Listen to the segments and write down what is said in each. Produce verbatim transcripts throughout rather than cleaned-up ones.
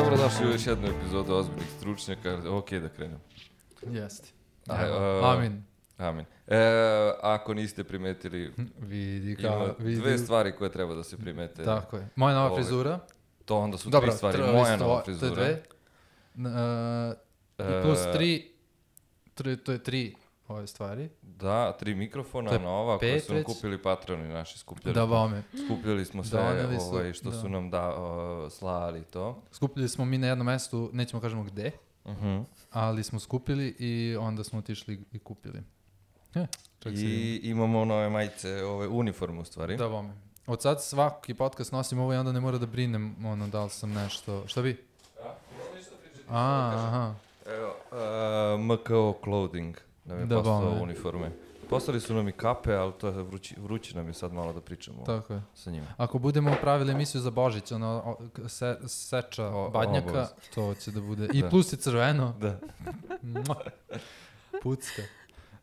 Dobrodošli u još jednu epizodu Ozbiljnih stručnjaka. Ok, da krenem. Jeste. Amin. Amin. E, ako niste primetili, vidi ka, ima vidi. dve stvari koje treba da se primete. Tako je. Moja nova Ove, frizura. To onda su Dobro, tri stvari. tr- Moja sto, nova to je frizura. dve. Uh, I plus tri, tri, to je tri ove stvari. Da, tri mikrofona, To je nova, koje pet su nam već. kupili patroni naši, skupljali. Da smo- vome. Skupljali smo sve Doneli su, ovaj, što da. su nam da, o, slali to. Skupili smo mi na jednom mestu, nećemo kažemo gde, Uh-huh. ali smo skupili i onda smo otišli i kupili. E, čak se I imamo nove majice, ove uniforme u stvari. da vome. Od sad svaki podcast nosim ovo i onda ne mora da brinem ono da li sam nešto. Šta bi? A, aha. Evo, uh, M K O Clothing nam je Da, poslao bome. uniforme. Poslali su nam i kape, ali to je vrući, vrući nam je sad malo da pričamo Tako je. sa njima. Ako budemo pravili emisiju za Božić, ono, o, k- se, seča O- badnjaka, obavezno. to će da bude. I Da. plus i crveno. Da. Mua. Pucka.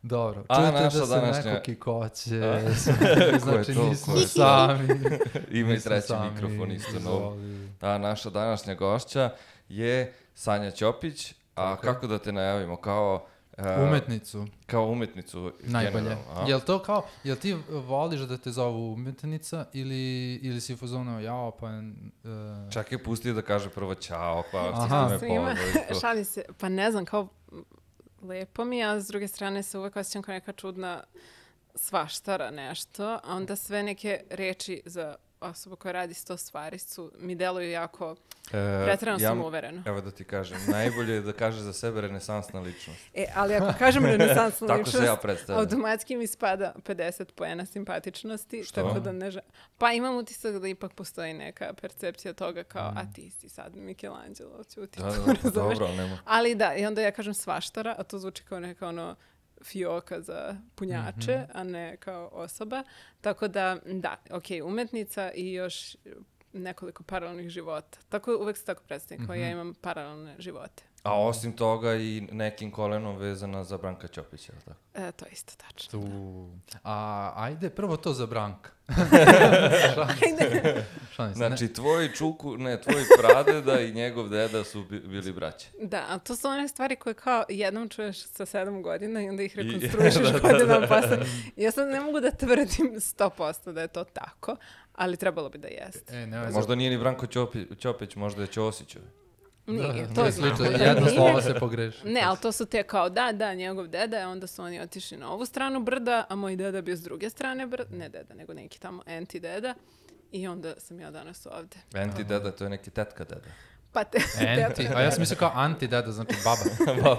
Dobro. A Čujete naša da se današnja- neko kikoće. A? Znači Ko je to? nismo Ko je to? sami. Ima i Nismo treći sami. mikrofon isto nov. Izvoli. A naša današnja gošća je Sanja Ćopić. A Tako je. kako da te najavimo? Kao, uh, Umetnicu. kao umetnicu. Najbolje. generalno, a? Jel to kao, jel ti voliš da te zovu umetnica ili, ili si fuzonao, jao, pa... Uh, Čak je pustio da kaže prvo čao, pa Aha. što me Svima. pozdravi. Šalim se, pa ne znam, kao lepo mi je, a s druge strane se uvek osjećam kao neka čudna svaštara nešto, a onda sve neke reči za osobu koja radi sto stvari su, mi deluju jako E, pretjerano ja- samouvereno. Evo da ti kažem, najbolje je da kaže za sebe renesansna ličnost. E, ali ako kažem renesansna Tako ličnost, se ja predstavljam. automatski mi spada pedeset poena simpatičnosti, Što? tako da ne ža... Pa imam utisak da ipak postoji neka percepcija toga kao, Mm. a ti si sad Michelangelo, ćuti, Da, to da, razumeš? dobro, ali nema. Ali da, i onda ja kažem svaštara, a to zvuči kao neka ono fioka za punjače, Mhm. a ne kao osoba. Tako da, da, ok, umetnica i još nekoliko paralelnih života. Tako uvek se tako predstavim, kao ja imam paralelne živote. A osim toga i nekim kolenom vezana za Branka Ćopića, jel tako? E, to je isto tačno. tu. A, ajde, prvo to za Branka. Ajde. Šalim se, ne. Znači, tvoj čuku, ne, tvoj pradeda i njegov deda su bi- bili braće. Da, a to su one stvari koje kao jednom čuješ sa sedam godina i onda ih I- rekonstruišeš da, da. godinama posle. Ja sad ne mogu da tvrdim sto posto da je to tako, ali trebalo bi da jeste. E, ne, Možda nije ni Branko Ćopi, Ćopić, možda je Ćosićev. Nije, Da, to nije znam. slično, da jedno nije. slovo se pogreši. Ne, ali to su te kao da, da, njegov deda, a onda su oni otišli na ovu stranu brda, a moj deda bio s druge strane brda, ne deda, nego neki tamo anti-deda. I onda sam ja danas ovde. Enti deda, to je neki tetka deda. Pa te, Anti, a ja sam mislio kao anti-deda, znači baba.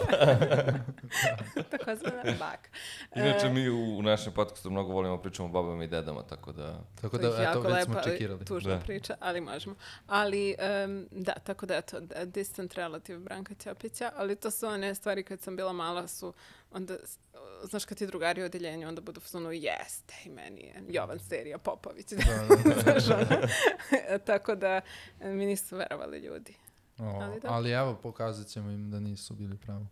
tako zvana baka. Inače, E, mi u, u našem podcastu mnogo volimo pričamo o babama i dedama, tako da... Tako to je da, eto, jako već smo lepa, ali čekirali. tužna Da. priča, ali možemo. Ali, em, da, tako da eto, da, distant relative Branka Ćopića, ali to su one stvari kad sam bila mala su, onda, s- znaš kad ti drugari u odeljenju, onda budu ono, jeste, i meni je Jovan Serija Popović. Znaš, ono. Tako da e, mi nisu verovali ljudi. O, Ali dobro. ali evo, pokazat ćemo im da nisu bili pravo.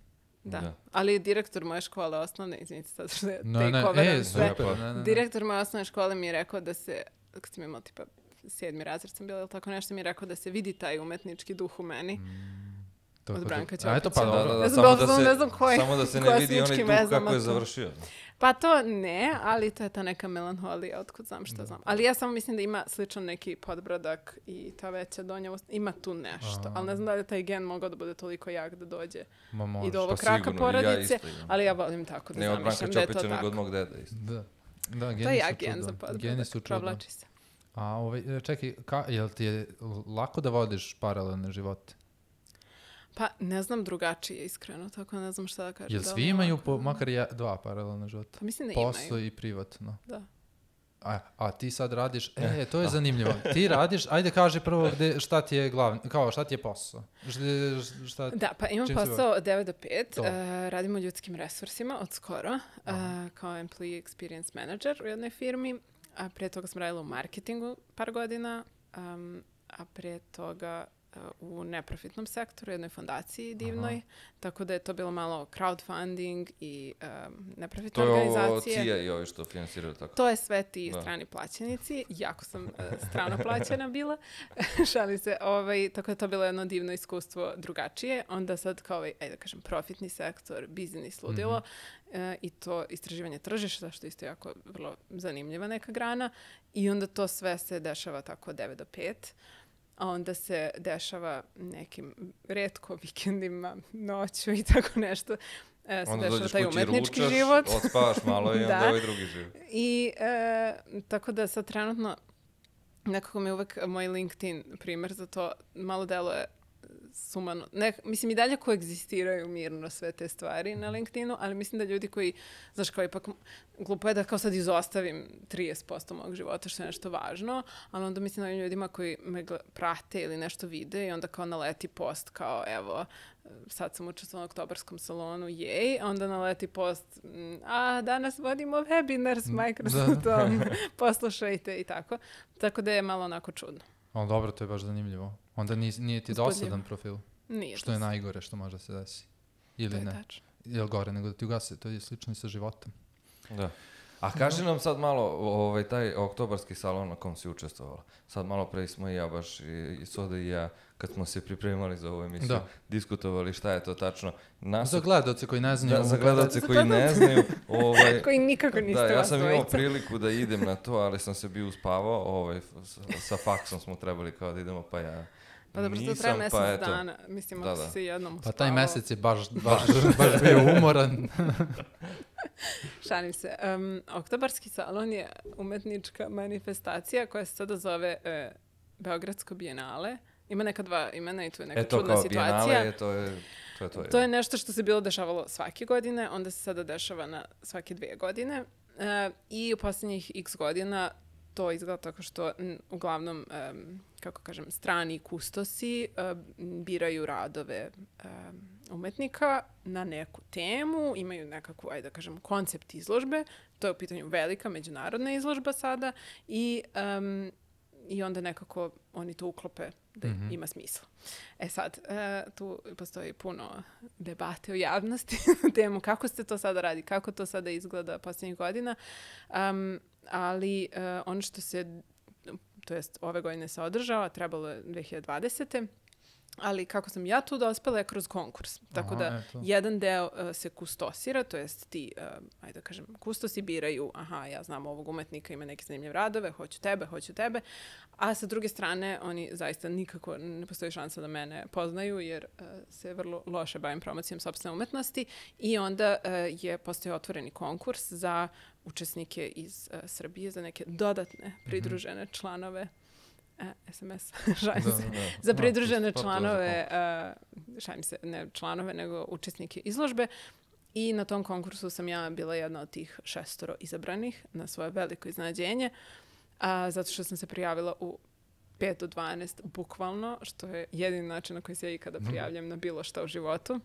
Da. Da. Ali direktor moje škole osnovne, izvinite sad što je Ne, ne, takeoveram e, sve. super. Pa- Ne, ne, ne. Direktor moje osnovne škole mi je rekao da se, kad sam imala tipa sedmi razred sam bila ili tako nešto, mi je rekao da se vidi taj umetnički duh u meni. Tako od da- Branka A eto pa Ćopića. Da, dobro. da, da, Ne znam, samo, da doslovno se, ne znam koje- samo da se ne koja vidi onaj sličkim duh vezama kako je to. završio. Pa to ne, ali to je ta neka melanholija, otkud znam što znam. Ali ja samo mislim da ima sličan neki podbrodak i ta veća donja ust- ima tu nešto. Ali ne znam da li je taj gen mogao da bude toliko jak da dođe Ma može. i do ovog Pa kraka sigurno, i ja porodice, isto imam. ali ja volim tako da Ne od Branka zamišljam da je to Ćopića, nego tako. od mog deda isto. Da. Da, To geni je su jak gen čudo. za Geni podbrodak, su čudo. provlači se. A ovaj, čekaj, ka, jel ti je lako da vodiš paralelne živote? Pa ne znam drugačije, iskreno, tako ne znam šta da kažem. Jel da li svi je imaju lako? po, makar ja, dva paralelna života? Pa mislim da Posao imaju. i privatno. Da. A, a ti sad radiš, e, to je zanimljivo. Ti radiš, ajde kaži prvo gde, šta ti je glavni, kao šta ti je posao? Šta, šta, Da, pa imam čim se posao od devet do pet, To. uh, radimo u ljudskim resursima od skoro, uh, kao employee experience manager u jednoj firmi, a prije toga sam radila u marketingu par godina, um, a prije toga u neprofitnom sektoru, jednoj fondaciji divnoj, aha, tako da je to bilo malo crowdfunding i um, neprofitne organizacije. To je ovo C I A i ovi što finansiraju tako? To je sve ti da. strani plaćenici. Jako sam uh, strano plaćena bila. Šali se. Ovaj, tako da to bilo jedno divno iskustvo drugačije. Onda sad kao ovaj, ajde da kažem, profitni sektor, biznis ludilo mm-hmm. uh, i to istraživanje tržišta, što isto jako vrlo zanimljiva neka grana. I onda to sve se dešava tako od devet do pet. A onda se dešava nekim retko vikendima, noću i tako nešto. E, se onda dešava taj kući, umetnički ručaš, život. odspavaš malo i onda ovaj drugi život. I e, tako da sad trenutno nekako mi uvek moj LinkedIn primer za to malo deluje sumano. Ne, mislim i dalje koegzistiraju mirno sve te stvari na LinkedInu, ali mislim da ljudi koji, znaš, kao ipak glupo je da kao sad izostavim trideset posto mog života što je nešto važno, ali onda mislim da ovim ljudima koji me prate ili nešto vide i onda kao naleti post kao evo, sad sam učestvovala na oktobarskom salonu, jej, onda naleti post, a danas vodimo webinar s Microsoftom, poslušajte i tako. Tako da je malo onako čudno. Ali dobro, to je baš zanimljivo. Onda nije, nije ti dosadan profil. Nije. Što je najgore što može se desi. Ili ne. Tačno. Ili gore nego da ti ugase. To je slično i sa životom. Da. A kaži nam sad malo ovaj, taj oktobarski salon na kom si učestvovala. Sad malo pre smo i ja baš i, i Soda i ja kad smo se pripremali za ovu emisiju da. diskutovali šta je to tačno. Nas... Za gledalce koji ne znaju. Da, za gledalce koji ne znaju. Ovaj, koji nikako niste da, ja vas sam imao dvojica. priliku da idem na to, ali sam se bio uspavao. Ovaj, sa, sa faksom smo trebali kao da idemo, pa ja Pa dobro, to traje mesec pa dana. Mislim, ako si se jednom uspavao. Pa taj mesec je baš, baš, baš bio umoran. Šalim se. Um, Oktobarski salon je umetnička manifestacija koja se sada zove e, Beogradsko bijenale. Ima neka dva imena i tu je neka Eto, čudna situacija. Bijenale, to je to. Je to, je. to je nešto što se bilo dešavalo svake godine, onda se sada dešava na svake dvije godine. E, I u posljednjih x godina to izgleda tako što m, uglavnom, um, kako kažem, strani kustosi um, biraju radove um, umetnika na neku temu, imaju nekakvu, ajde da kažem, koncept izložbe, to je u pitanju velika međunarodna izložba sada i, um, i onda nekako oni to uklope da mm-hmm. ima smisla. E sad, uh, tu postoji puno debate u javnosti na temu kako se to sada radi, kako to sada izgleda posljednjih godina, um, ali uh, ono što se, to jest ove godine se održava, trebalo je dve hiljade dvadesete. Ali kako sam ja tu dospela je kroz konkurs. Tako aha, da eto. Jedan deo uh, se kustosira, to jest ti, uh, ajde da kažem, kustosi biraju, aha, ja znam ovog umetnika, ima neke zanimljive radove, hoću tebe, hoću tebe. A sa druge strane, oni zaista nikako ne postoji šansa da mene poznaju, jer uh, se vrlo loše bavim promocijom sopstvene umetnosti. I onda uh, je postoji otvoreni konkurs za učesnike iz uh, Srbije, za neke dodatne pridružene mm-hmm. članove E, S M S, šalim se, da, da. za pridružene no, članove, uh, šalim se, ne članove, nego učesnike izložbe. I na tom konkursu sam ja bila jedna od tih šestoro izabranih na svoje veliko iznenađenje, uh, zato što sam se prijavila u pet do dvanaest bukvalno, što je jedini način na koji se ja ikada prijavljam na bilo što u životu.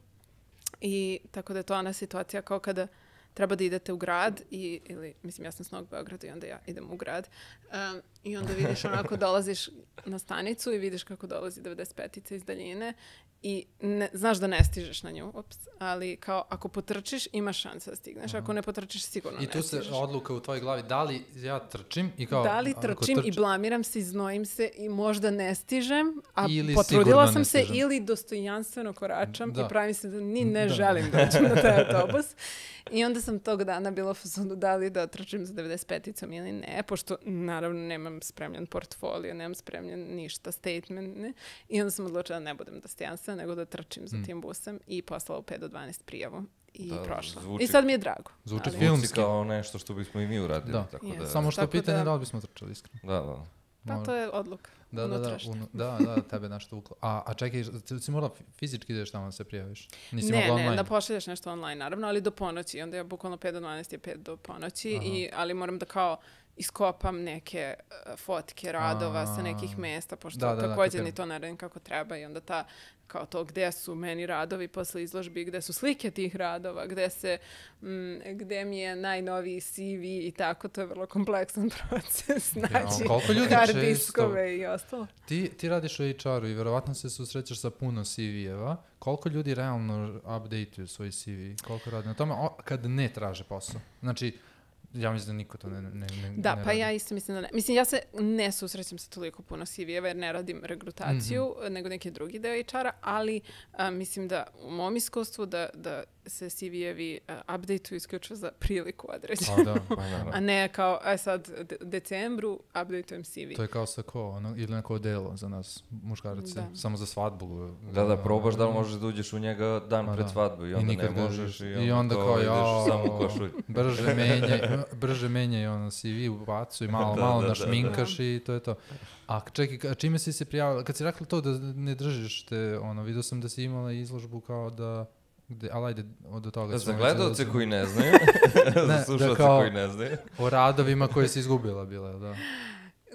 I tako da je to ona situacija kao kada treba da idete u grad i, ili, mislim, ja sam s Novog Beograda i onda ja idem u grad um, i onda vidiš onako, dolaziš na stanicu i vidiš kako dolazi devedeset petica iz daljine i ne, znaš da ne stižeš na nju, ups, ali kao ako potrčiš imaš šanse da stigneš, ako ne potrčiš sigurno ne stižeš. I tu se odluka u tvojoj glavi, da li ja trčim i kao... Da li trčim trč... i blamiram se, iznojim se i možda ne stižem, a ili potrudila sam se ili dostojanstveno koračam da. I pravim se da ni ne da. želim doći na taj autobus. I onda sam tog dana bila u fazonu da li da trčim za devedeset peticom ili ne, pošto naravno nemam spremljen portfolio, nemam spremljen ništa, statement, ne. I onda sam odlučila da ne budem dostojanstvena, nego da trčim za tim busem i poslala u pet do dvanaest prijavu i da, prošla. Zvuči, I sad mi je drago. Zvuči ali... filmski kao nešto što bismo i mi uradili. Da. Tako yes. da... Samo što tako pitanje da... da li bismo trčali iskreno. Da, da. Pa to je odluka. Da, da, da, unu, da, da, tebe nešto uklo. A, a čekaj, si morala fizički ideš tamo da se prijaviš? Nisi ne, online? Ne, da pošalješ nešto online, naravno, ali do ponoći. Onda je bukvalno pet do dvanaest je pet do ponoći, i, ali moram da kao iskopam neke uh, fotke radova sa nekih mesta, pošto da, da, također da, ni to ne radim kako treba i onda ta, kao to gde su meni radovi posle izložbi, gde su slike tih radova, gde se, m, gde mi je najnoviji C V i tako, to je vrlo kompleksan proces, znači, ja, hard diskove i ostalo. Ti, ti radiš u H R-u i verovatno se susrećeš sa puno C V-eva. Koliko ljudi realno update-uju svoj C V? Koliko radi na tome? O, kad ne traže posao. Znači, ja mislim da niko to ne, ne, ne Da, ne pa radi. ja isto mislim da ne. Mislim, ja se ne susrećem sa toliko puno C V-eva jer ne radim regrutaciju, mm-hmm. nego neki drugi deo H R-a, ali a, mislim da u mom iskustvu da, da se C V-evi uh, update-uju isključivo za priliku određenu. A, da. A ne kao, aj sad, u decembru update-ujem C V. To je kao sa ko, ono, ili neko delo za nas, muškarci, Da. samo za svadbu. Da, da, probaš da li možeš da uđeš u njega dan Ma pred da. svadbu i I onda nikad ne ne možeš i ideš. onda, I onda kao, kao, ideš jao, samo u košulj. brže menjaj, brže menjaj ono C V u bacu i malo, Da, malo da, da, našminkaš i to je to. A čekaj, a čime si se prijavila? Kad si rekla to da ne držiš te, ono, vidio sam da si imala izložbu kao da, gde, ali ajde, od toga. Za gledalce koji ne znaju, Ne, za da slušalce kao- koji ne znaju. O radovima koje si izgubila bila, da.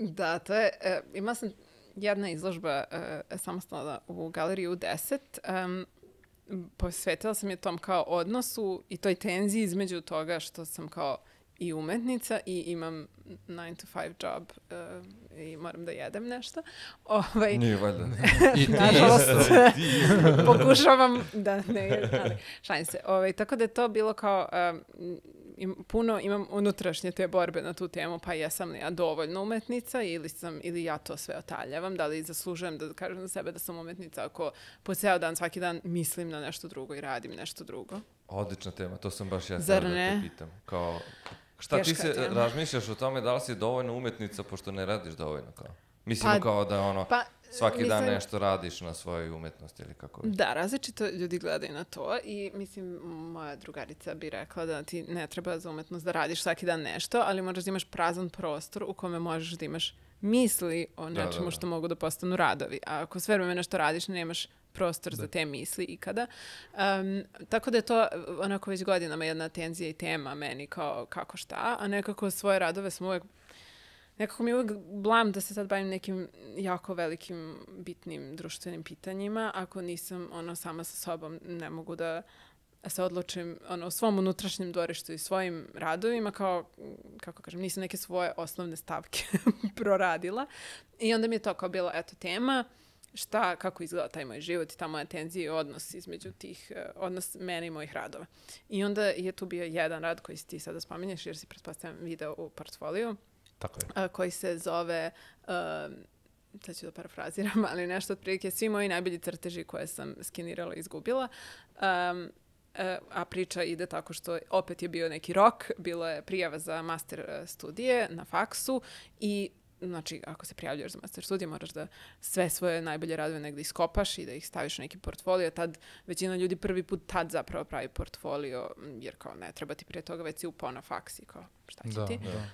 Da, to je, e, imala sam jedna izložba e, samostalna u galeriji U deset. Um, posvetila sam je tom kao odnosu i toj tenziji između toga što sam kao i umetnica i imam nine to five job uh, i moram da jedem nešto. Ovaj, Nije valjda. I ti Nažalost, isto. pokušavam da ne, ali šalim se. Ovaj, tako da je to bilo kao, um, im, puno imam unutrašnje te borbe na tu temu, pa jesam li ja dovoljno umetnica ili, sam, ili ja to sve otaljavam, da li zaslužujem da kažem za sebe da sam umetnica ako po ceo dan, svaki dan mislim na nešto drugo i radim nešto drugo. Odlična tema, to sam baš ja Zar sad da ne? te pitam. Kao, šta ti Teška se tema. razmišljaš o tome da li si dovoljno umetnica pošto ne radiš dovoljno kao? Mislim Pa- kao da ono, Pa, svaki dan mislim- nešto radiš na svojoj umetnosti ili kako već. Da, različito ljudi gledaju na to i mislim, moja drugarica bi rekla da ti ne treba za umetnost da radiš svaki dan nešto, ali možeš da imaš prazan prostor u kome možeš da imaš misli o Da, nečemu da, da. što mogu da postanu radovi. A ako sve vreme nešto radiš, nemaš prostor za te misli ikada. Um, tako da je to onako već godinama jedna tenzija i tema meni kao kako šta, a nekako svoje radove sam uvek nekako mi je uvijek blam da se sad bavim nekim jako velikim, bitnim društvenim pitanjima. Ako nisam ono sama sa sobom, ne mogu da se odlučim ono, u svom unutrašnjem dvorištu i svojim radovima, kao, kako kažem, nisam neke svoje osnovne stavke proradila. I onda mi je to kao bila, eto, tema, šta, kako izgleda taj moj život i ta moja tenzija i odnos između tih, eh, odnos mene i mojih radova. I onda je tu bio jedan rad koji si ti sada spominješ, jer si pretpostavljam video u portfoliju, Tako je. a, koji se zove, um, sad ću da parafraziram, ali nešto otprilike svi moji najbolji crteži koje sam skenirala i izgubila. Um, e, a priča ide tako što opet je bio neki rok, bilo je prijava za master e, studije na faksu i znači, ako se prijavljaš za master studije, moraš da sve svoje najbolje radove negdje iskopaš i da ih staviš u neki portfolio. Tad većina ljudi prvi put tad zapravo pravi portfolio, jer kao ne treba ti prije toga već si upao na faks i kao šta će Da, ti. da.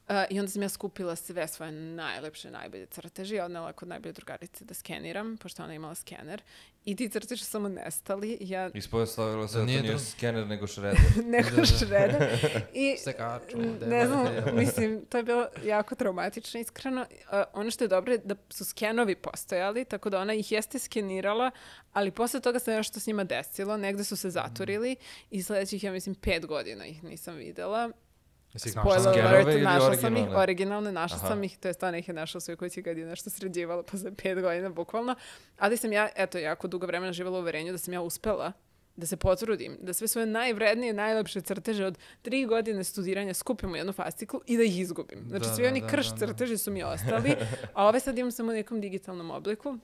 Uh, I onda sam ja skupila sve svoje najlepše, najbolje crteži, odnela kod najbolje drugarice da skeniram, pošto ona imala skener. I ti crteži su samo nestali. Ja Ispostavilo se Da da nije to nije dru- skener nego šreder. neko šreda. I Sekaču, ne znam, debate. mislim, to je bilo jako traumatično, iskreno. Uh, ono što je dobro je da su skenovi postojali, tako da ona ih jeste skenirala, ali posle toga se nešto s njima desilo, negde su se zaturili i sledećih, ja mislim, pet godina ih nisam videla. Jesi ih našla? Spoiler Skenove alert, ili našla sam ih, originalne? originalne, našla Aha. sam ih, to je stvarno ih je našla u svojoj kući kad je nešto sređivala posle pet godina, bukvalno. Ali sam ja, eto, jako dugo vremena živjela u uverenju da sam ja uspela da se potrudim, da sve svoje najvrednije, najlepše crteže od tri godine studiranja skupim u jednu fasciklu i da ih izgubim. Znači, Da, svi da, oni da, krš da, da. crteži su mi ostali, a ove sad imam samo u nekom digitalnom obliku.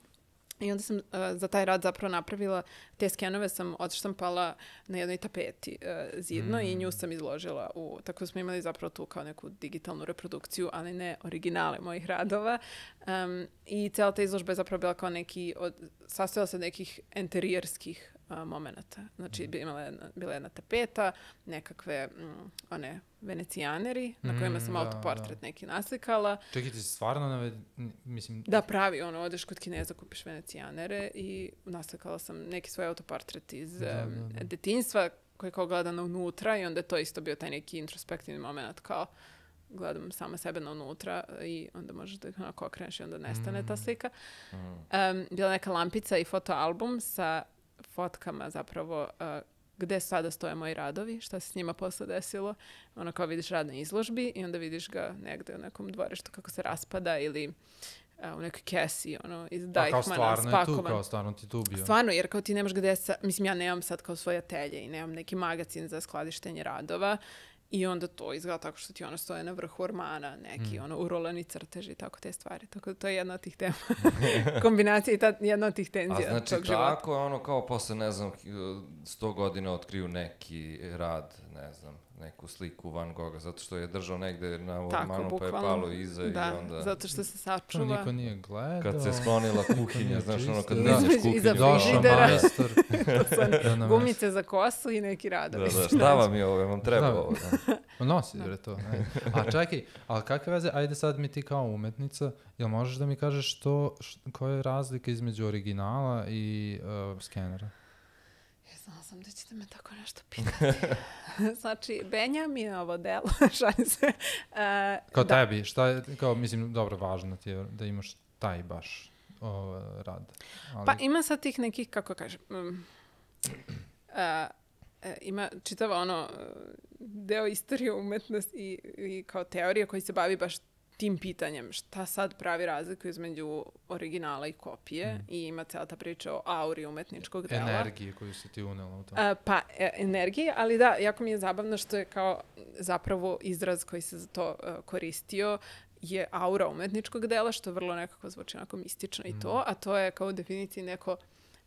I onda sam uh, za taj rad zapravo napravila, te skenove sam odštampala na jednoj tapeti uh, zidno Mm. i nju sam izložila u, tako da smo imali zapravo tu kao neku digitalnu reprodukciju, ali ne originale mojih radova. Um, I cijela ta izložba je zapravo bila kao neki, od, sastojala se od nekih enterijerskih uh, momenata. Znači, bi imala jedna, bila jedna tapeta, nekakve mm, one venecijaneri na kojima sam Mm, da, autoportret da. neki naslikala. Čekaj, ti si stvarno naved... Mislim, Da, pravi, ono, odeš kod Kineza, kupiš venecijanere i naslikala sam neki svoj autoportret iz Da, em, da, da. detinjstva koji je kao gledano unutra i onda je to isto bio taj neki introspektivni moment kao gledam sama sebe na unutra i onda možeš da ih onako okreneš i onda nestane Mm. ta slika. Mm. Um, bila neka lampica i fotoalbum sa fotkama zapravo uh, gde sada stoje moji radovi, šta se s njima posle desilo. Ono kao vidiš rad na izložbi i onda vidiš ga negde u nekom dvorištu kako se raspada ili uh, u nekoj kesi, ono, iz A kao Deichmana stvarno je tu, spakovan. kao stvarno ti tu bio. Stvarno, jer kao ti nemaš gde sa... Mislim, ja nemam sad kao svoje atelje i nemam neki magazin za skladištenje radova i onda to izgleda tako što ti ono stoje na vrhu ormana, neki Mm. ono urolani crteži i tako te stvari. Tako da to je jedna od tih tema. Kombinacija i ta, jedna od tih A tenzija znači tog života. tako je ono kao posle, ne znam, sto godina otkriju neki rad, ne znam, neku sliku Van Gogha, zato što je držao negde na ormanu pa je palo iza da, i onda... zato što se To sačuva. niko nije gledao. Kad se sklonila kuhinja, znaš ono kad čisto. vidiš Da. Iza kuhinju. Došao frižidera. majstor. To su one Da nam- gumice za kosu i neki Da, radovi. da, šta vam je ovo, vam treba Da. ovo. Da. Ma nosi, bre, to. Ne. A čekaj, ali kakve veze, ajde sad mi ti kao umetnica, jel možeš da mi kažeš što, š, koja je razlika između originala i uh, skenera? Ja znala sam da ćete me tako nešto pitati. Znači, Benjaminovo delo, šalim se. Uh, Kao da. tebi, šta je, kao, mislim, dobro, važno ti je da imaš taj baš o, rad. Ali, Pa ima sad tih nekih, kako kažem, um, uh, e, ima čitava ono uh, deo istorije umetnosti i, i kao teorije koji se bavi baš tim pitanjem šta sad pravi razliku između originala i kopije Mm. i ima cijela ta priča o auri umetničkog dela. energije koju si ti unela u to. A, pa, e, energije, ali da, jako mi je zabavno što je kao zapravo izraz koji se za to e, koristio je aura umetničkog dela, što vrlo nekako zvuči onako mistično i to, a to je kao u definiciji neko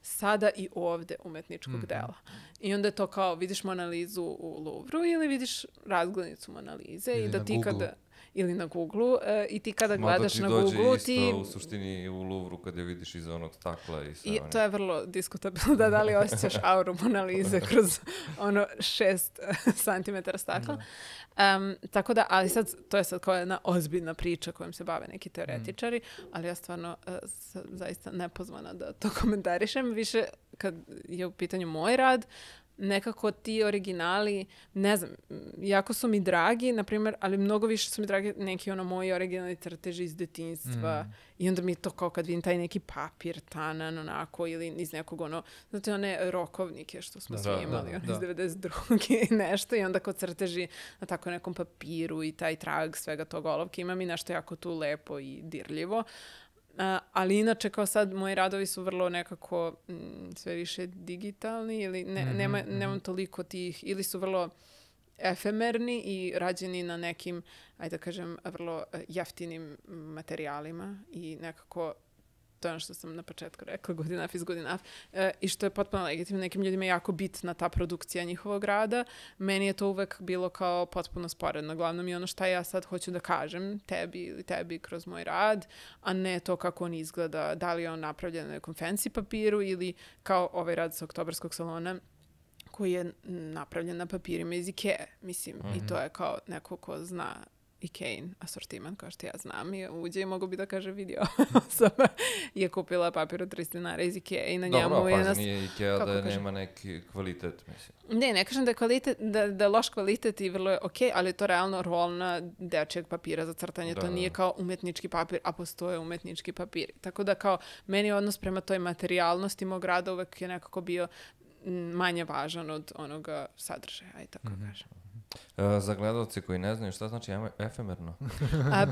sada i ovde umetničkog Mhm. dela. I onda je to kao vidiš Mona Lizu u Louvru ili vidiš razglednicu Mona Lize Ili i da na ti Googlu. kada ili na Googlu e, i ti kada Mada gledaš ti na dođe Googlu isto ti u suštini u Louvru kad je vidiš iza onog stakla i sve I one- to je vrlo diskutabilno da da li osjećaš auru Mona Lise kroz ono šest santimetara stakla. Um, tako da, ali sad, to je sad kao jedna ozbiljna priča kojom se bave neki teoretičari, ali ja stvarno uh, sam zaista nepozvana da to komentarišem. Više kad je u pitanju moj rad, nekako ti originali, ne znam, jako su mi dragi, na primjer, ali mnogo više su mi dragi neki ono moji originalni crteži iz detinjstva Mm. i onda mi je to kao kad vidim taj neki papir tanan onako ili iz nekog ono, znate one rokovnike što smo Da, svi da, imali, da, ono da. iz devedeset druge i nešto i onda kod crteži na tako nekom papiru i taj trag svega tog olovke ima mi nešto jako tu lepo i dirljivo. Uh, ali inače kao sad moji radovi su vrlo nekako mm, sve više digitalni ili ne, Mhm, nema, mhm. nemam toliko tih ili su vrlo efemerni i rađeni na nekim, ajde da kažem, vrlo eh, jeftinim materijalima i nekako to je ono što sam na početku rekla, good enough is good enough, e, i što je potpuno legitimno. Nekim ljudima je jako bitna ta produkcija njihovog rada. Meni je to uvek bilo kao potpuno sporedno. Glavno mi je ono šta ja sad hoću da kažem tebi ili tebi kroz moj rad, a ne to kako on izgleda, da li je on napravljen na nekom fancy papiru ili kao ovaj rad sa Oktobarskog salona koji je napravljen na papirima iz Ikea, mislim, Mhm. i to je kao neko ko zna Ikein asortiman, kao što ja znam, i uđe i mogu bi da kaže vidio osoba je kupila papir od tristo dinara iz Ikea i na njemu Dobro, je pa nas... nije Ikea kako da kažem? nema neki kvalitet, mislim. Ne, ne kažem da je kvalitet, da, da je loš kvalitet i vrlo je okej, ali je to realno rolna dečijeg papira za crtanje. Da, to da. nije kao umetnički papir, a postoje umetnički papiri. Tako da kao, meni odnos prema toj materijalnosti mog rada uvek je nekako bio m, manje važan od onoga sadržaja, aj tako Mhm. kažem. E, za gledalce koji ne znaju šta znači eme- efemerno. A,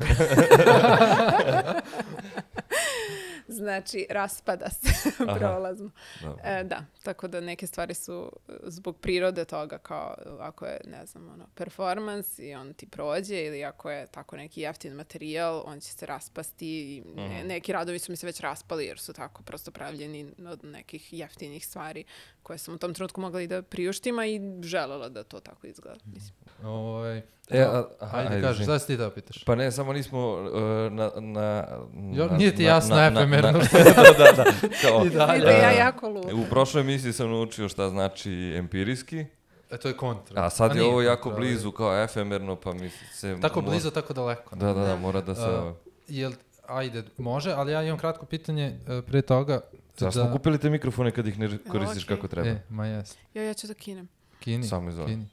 znači, raspada se Aha. prolazno. Dobro. E, da, tako da neke stvari su e, zbog prirode toga kao ako je, ne znam, ono, performans i on ti prođe ili ako je tako neki jeftin materijal, on će se raspasti i ne- Mhm. neki radovi su mi se već raspali jer su tako prosto pravljeni od nekih jeftinih stvari koje sam u tom trenutku mogla i da priuštim, a i želela da to tako izgleda. Mislim. Ovaj, E, a- aha, ajde, ajde, kaži, izvini. šta si ti da pitaš? Pa ne, samo nismo uh, na... na, Jo, na- nije ti na- jasno na- na- efemerno na- što je. da, da, da. Kao, I dalje. Vidi, ja e, jako luda. U prošloj emisiji sam naučio šta znači empirijski, E, to je kontra. a sad je nije ovo jako kontra, ali- blizu kao efemerno, pa mi se... Tako mo- blizu, tako daleko. Da, da, da, Da. mora da se... A, Jel, ajde, može, ali ja imam kratko pitanje e, pre toga. Zašto smo kupili te mikrofone kad ih ne koristiš okej. kako treba? E, ma jes. Ja, ja ću da kinem. Kini, Samo izvoli. kini.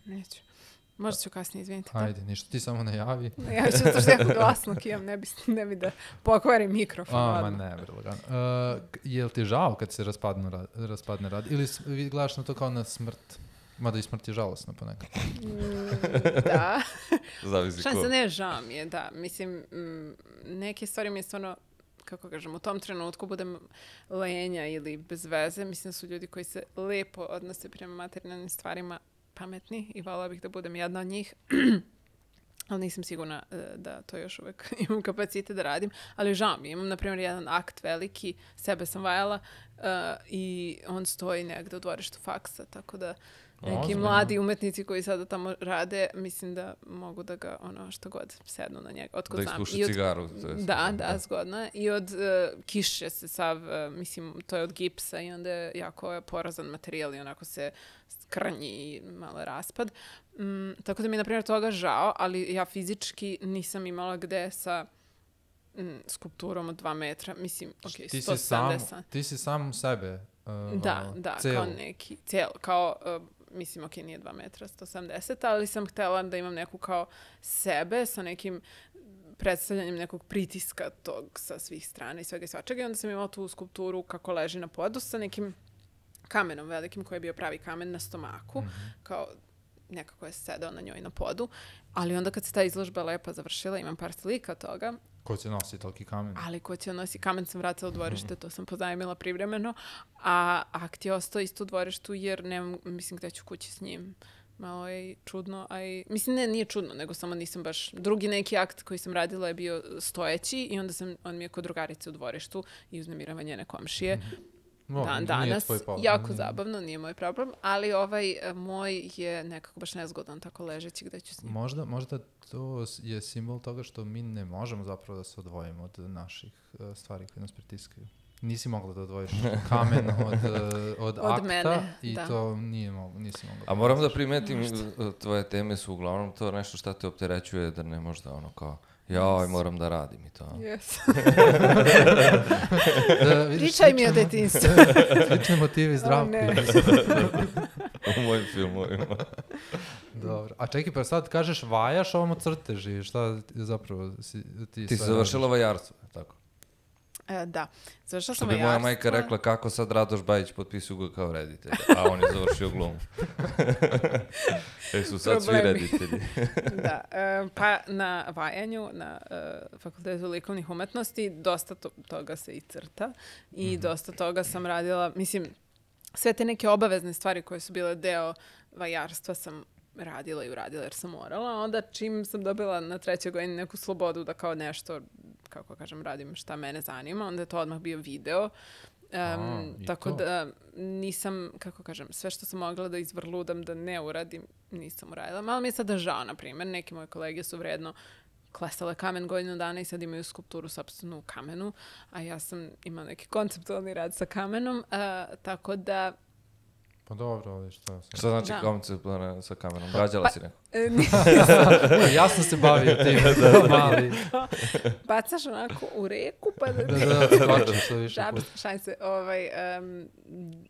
Neću. Možda ću kasnije, izvinite. Ajde, ništa, ti samo najavi. Ja ću to što jako glasno kijam, ne bi, ne bi da pokvarim mikrofon. A, ma ne, bre, lagano. Uh, je li ti žao kad se raspadnu rad, raspadne rad? Ili vi gledaš na to kao na smrt? Mada i smrt je žalosna ponekad. Mm, da. Zavisi ko. Šanse ne, žao mi je, da. Mislim, m, neke stvari mi je stvarno, kako kažem, u tom trenutku budem lenja ili bez veze. Mislim da su ljudi koji se lepo odnose prema materijalnim stvarima pametni i voljela bih da budem jedna od njih. Ali nisam sigurna uh, da to još uvek imam kapacitet da radim. Ali žao mi, imam, na primjer, jedan akt veliki, sebe sam vajala uh, i on stoji negde u dvorištu faksa, tako da neki Ozbiljno. mladi umetnici koji sada tamo rade, mislim da mogu da ga, ono, što god, sednu na njega. Otkud Da znam. ispuši I od- cigaru. to jest. Da, da, zgodno je. I od uh, kiše se sav, uh, mislim, to je od gipsa i onda je jako porazan materijal i onako se krnji i malo je raspad. Mm, tako da mi je, na primjer, toga žao, ali ja fizički nisam imala gde sa mm, skulpturom od dva metra. Mislim, ok, Ti sto si sam, sedamdeset. ti si sam sebe. Uh, Da, da, celu. kao neki, cijelo, kao, uh, mislim, ok, nije dva metra, sto sedamdeset, ali sam htjela da imam neku kao sebe sa nekim predstavljanjem nekog pritiska tog sa svih strana i svega i svačega. I onda sam imala tu skulpturu kako leži na podu sa nekim kamenom velikim koji je bio pravi kamen na stomaku, mm-hmm. kao nekako je sedao na njoj na podu. Ali onda kad se ta izložba lepa završila, imam par slika toga. Ko će nositi toliki kamen? Ali ko će nosi kamen sam vratila u dvorište, to sam pozajmila privremeno, a akt je ostao isto u dvorištu jer nemam, mislim, gde ću kući s njim. Malo je čudno, a i, mislim, ne, nije čudno, nego samo nisam baš, drugi neki akt koji sam radila je bio stojeći i onda sam, on mi je kod drugarice u dvorištu i uznemirava njene komšije. No, Dan nije danas, tvoj problem. jako Nije. zabavno, nije moj problem, ali ovaj e, moj je nekako baš nezgodan tako ležeći gde ću s njim. Možda, možda to je simbol toga što mi ne možemo zapravo da se odvojimo od naših uh, stvari koje nas pritiskaju. Nisi mogla da odvojiš kamen od, uh, od, Od akta mene, i da. to nije mogla, nisi mogla. A moram da primetim, tvoje teme su uglavnom to nešto šta te opterećuje da ne možda ono kao joj, moram da radim i to. Yes. Da, vidiš, Pričaj mi o slične- detinjstvu. Slične motive zdravke. ne. U mojim filmovima. Dobro. A čekaj, pa sad kažeš vajaš, ovamo crtež i šta zapravo si, ti Ti si sve završila radiš? vajarstvo, tako? E, da, završila Što sam bi moja vajarstvo. majka rekla kako sad Radoš Bajić potpisuje ga kao reditelj, a on je završio glumu. E su sad svi Problemi. reditelji. Da, e, pa na vajanju, na e, Fakultetu likovnih umetnosti, dosta to, toga se i crta i Mhm. dosta toga sam radila, mislim, sve te neke obavezne stvari koje su bile deo vajarstva sam radila i uradila jer sam morala. Onda čim sam dobila na trećoj godini neku slobodu da kao nešto, kako kažem, radim šta mene zanima, onda je to odmah bio video. Um, A, i tako to. da nisam, kako kažem, sve što sam mogla da izvrludam da ne uradim, nisam uradila. Malo mi je sada žao, na primjer, neki moje kolege su vredno klesale kamen godinu dana i sad imaju skulpturu sopstvenu u kamenu, a ja sam imala neki konceptualni rad sa kamenom, uh, tako da Pa dobro, ali šta sam... Šta znači Da. koncept ona, sa kamerom? Rađala si neko? e, ni- Ja sam se bavio tim, mali. bacaš onako u reku pa da... Da, da, da, skočim što više Žab, puta. šalim se, ovaj, um,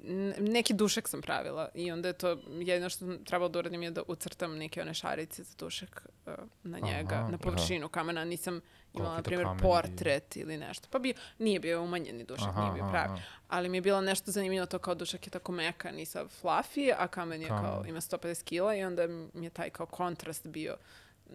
n- neki dušek sam pravila i onda je to jedino što sam trebalo da uradim je da ucrtam neke one šarice za dušek uh, na njega, Aha, na površinu kamena. Nisam imala, Koliki na to primjer, kamen portret ili nešto. Pa bio, nije bio umanjeni dušek, Aha, nije bio aha, pravi. aha. Ali mi je bilo nešto zanimljivo to kao dušek je tako mekan i sav fluffy, a kamen je Kamen. kao, ima sto pedeset kila i onda mi je taj kao kontrast bio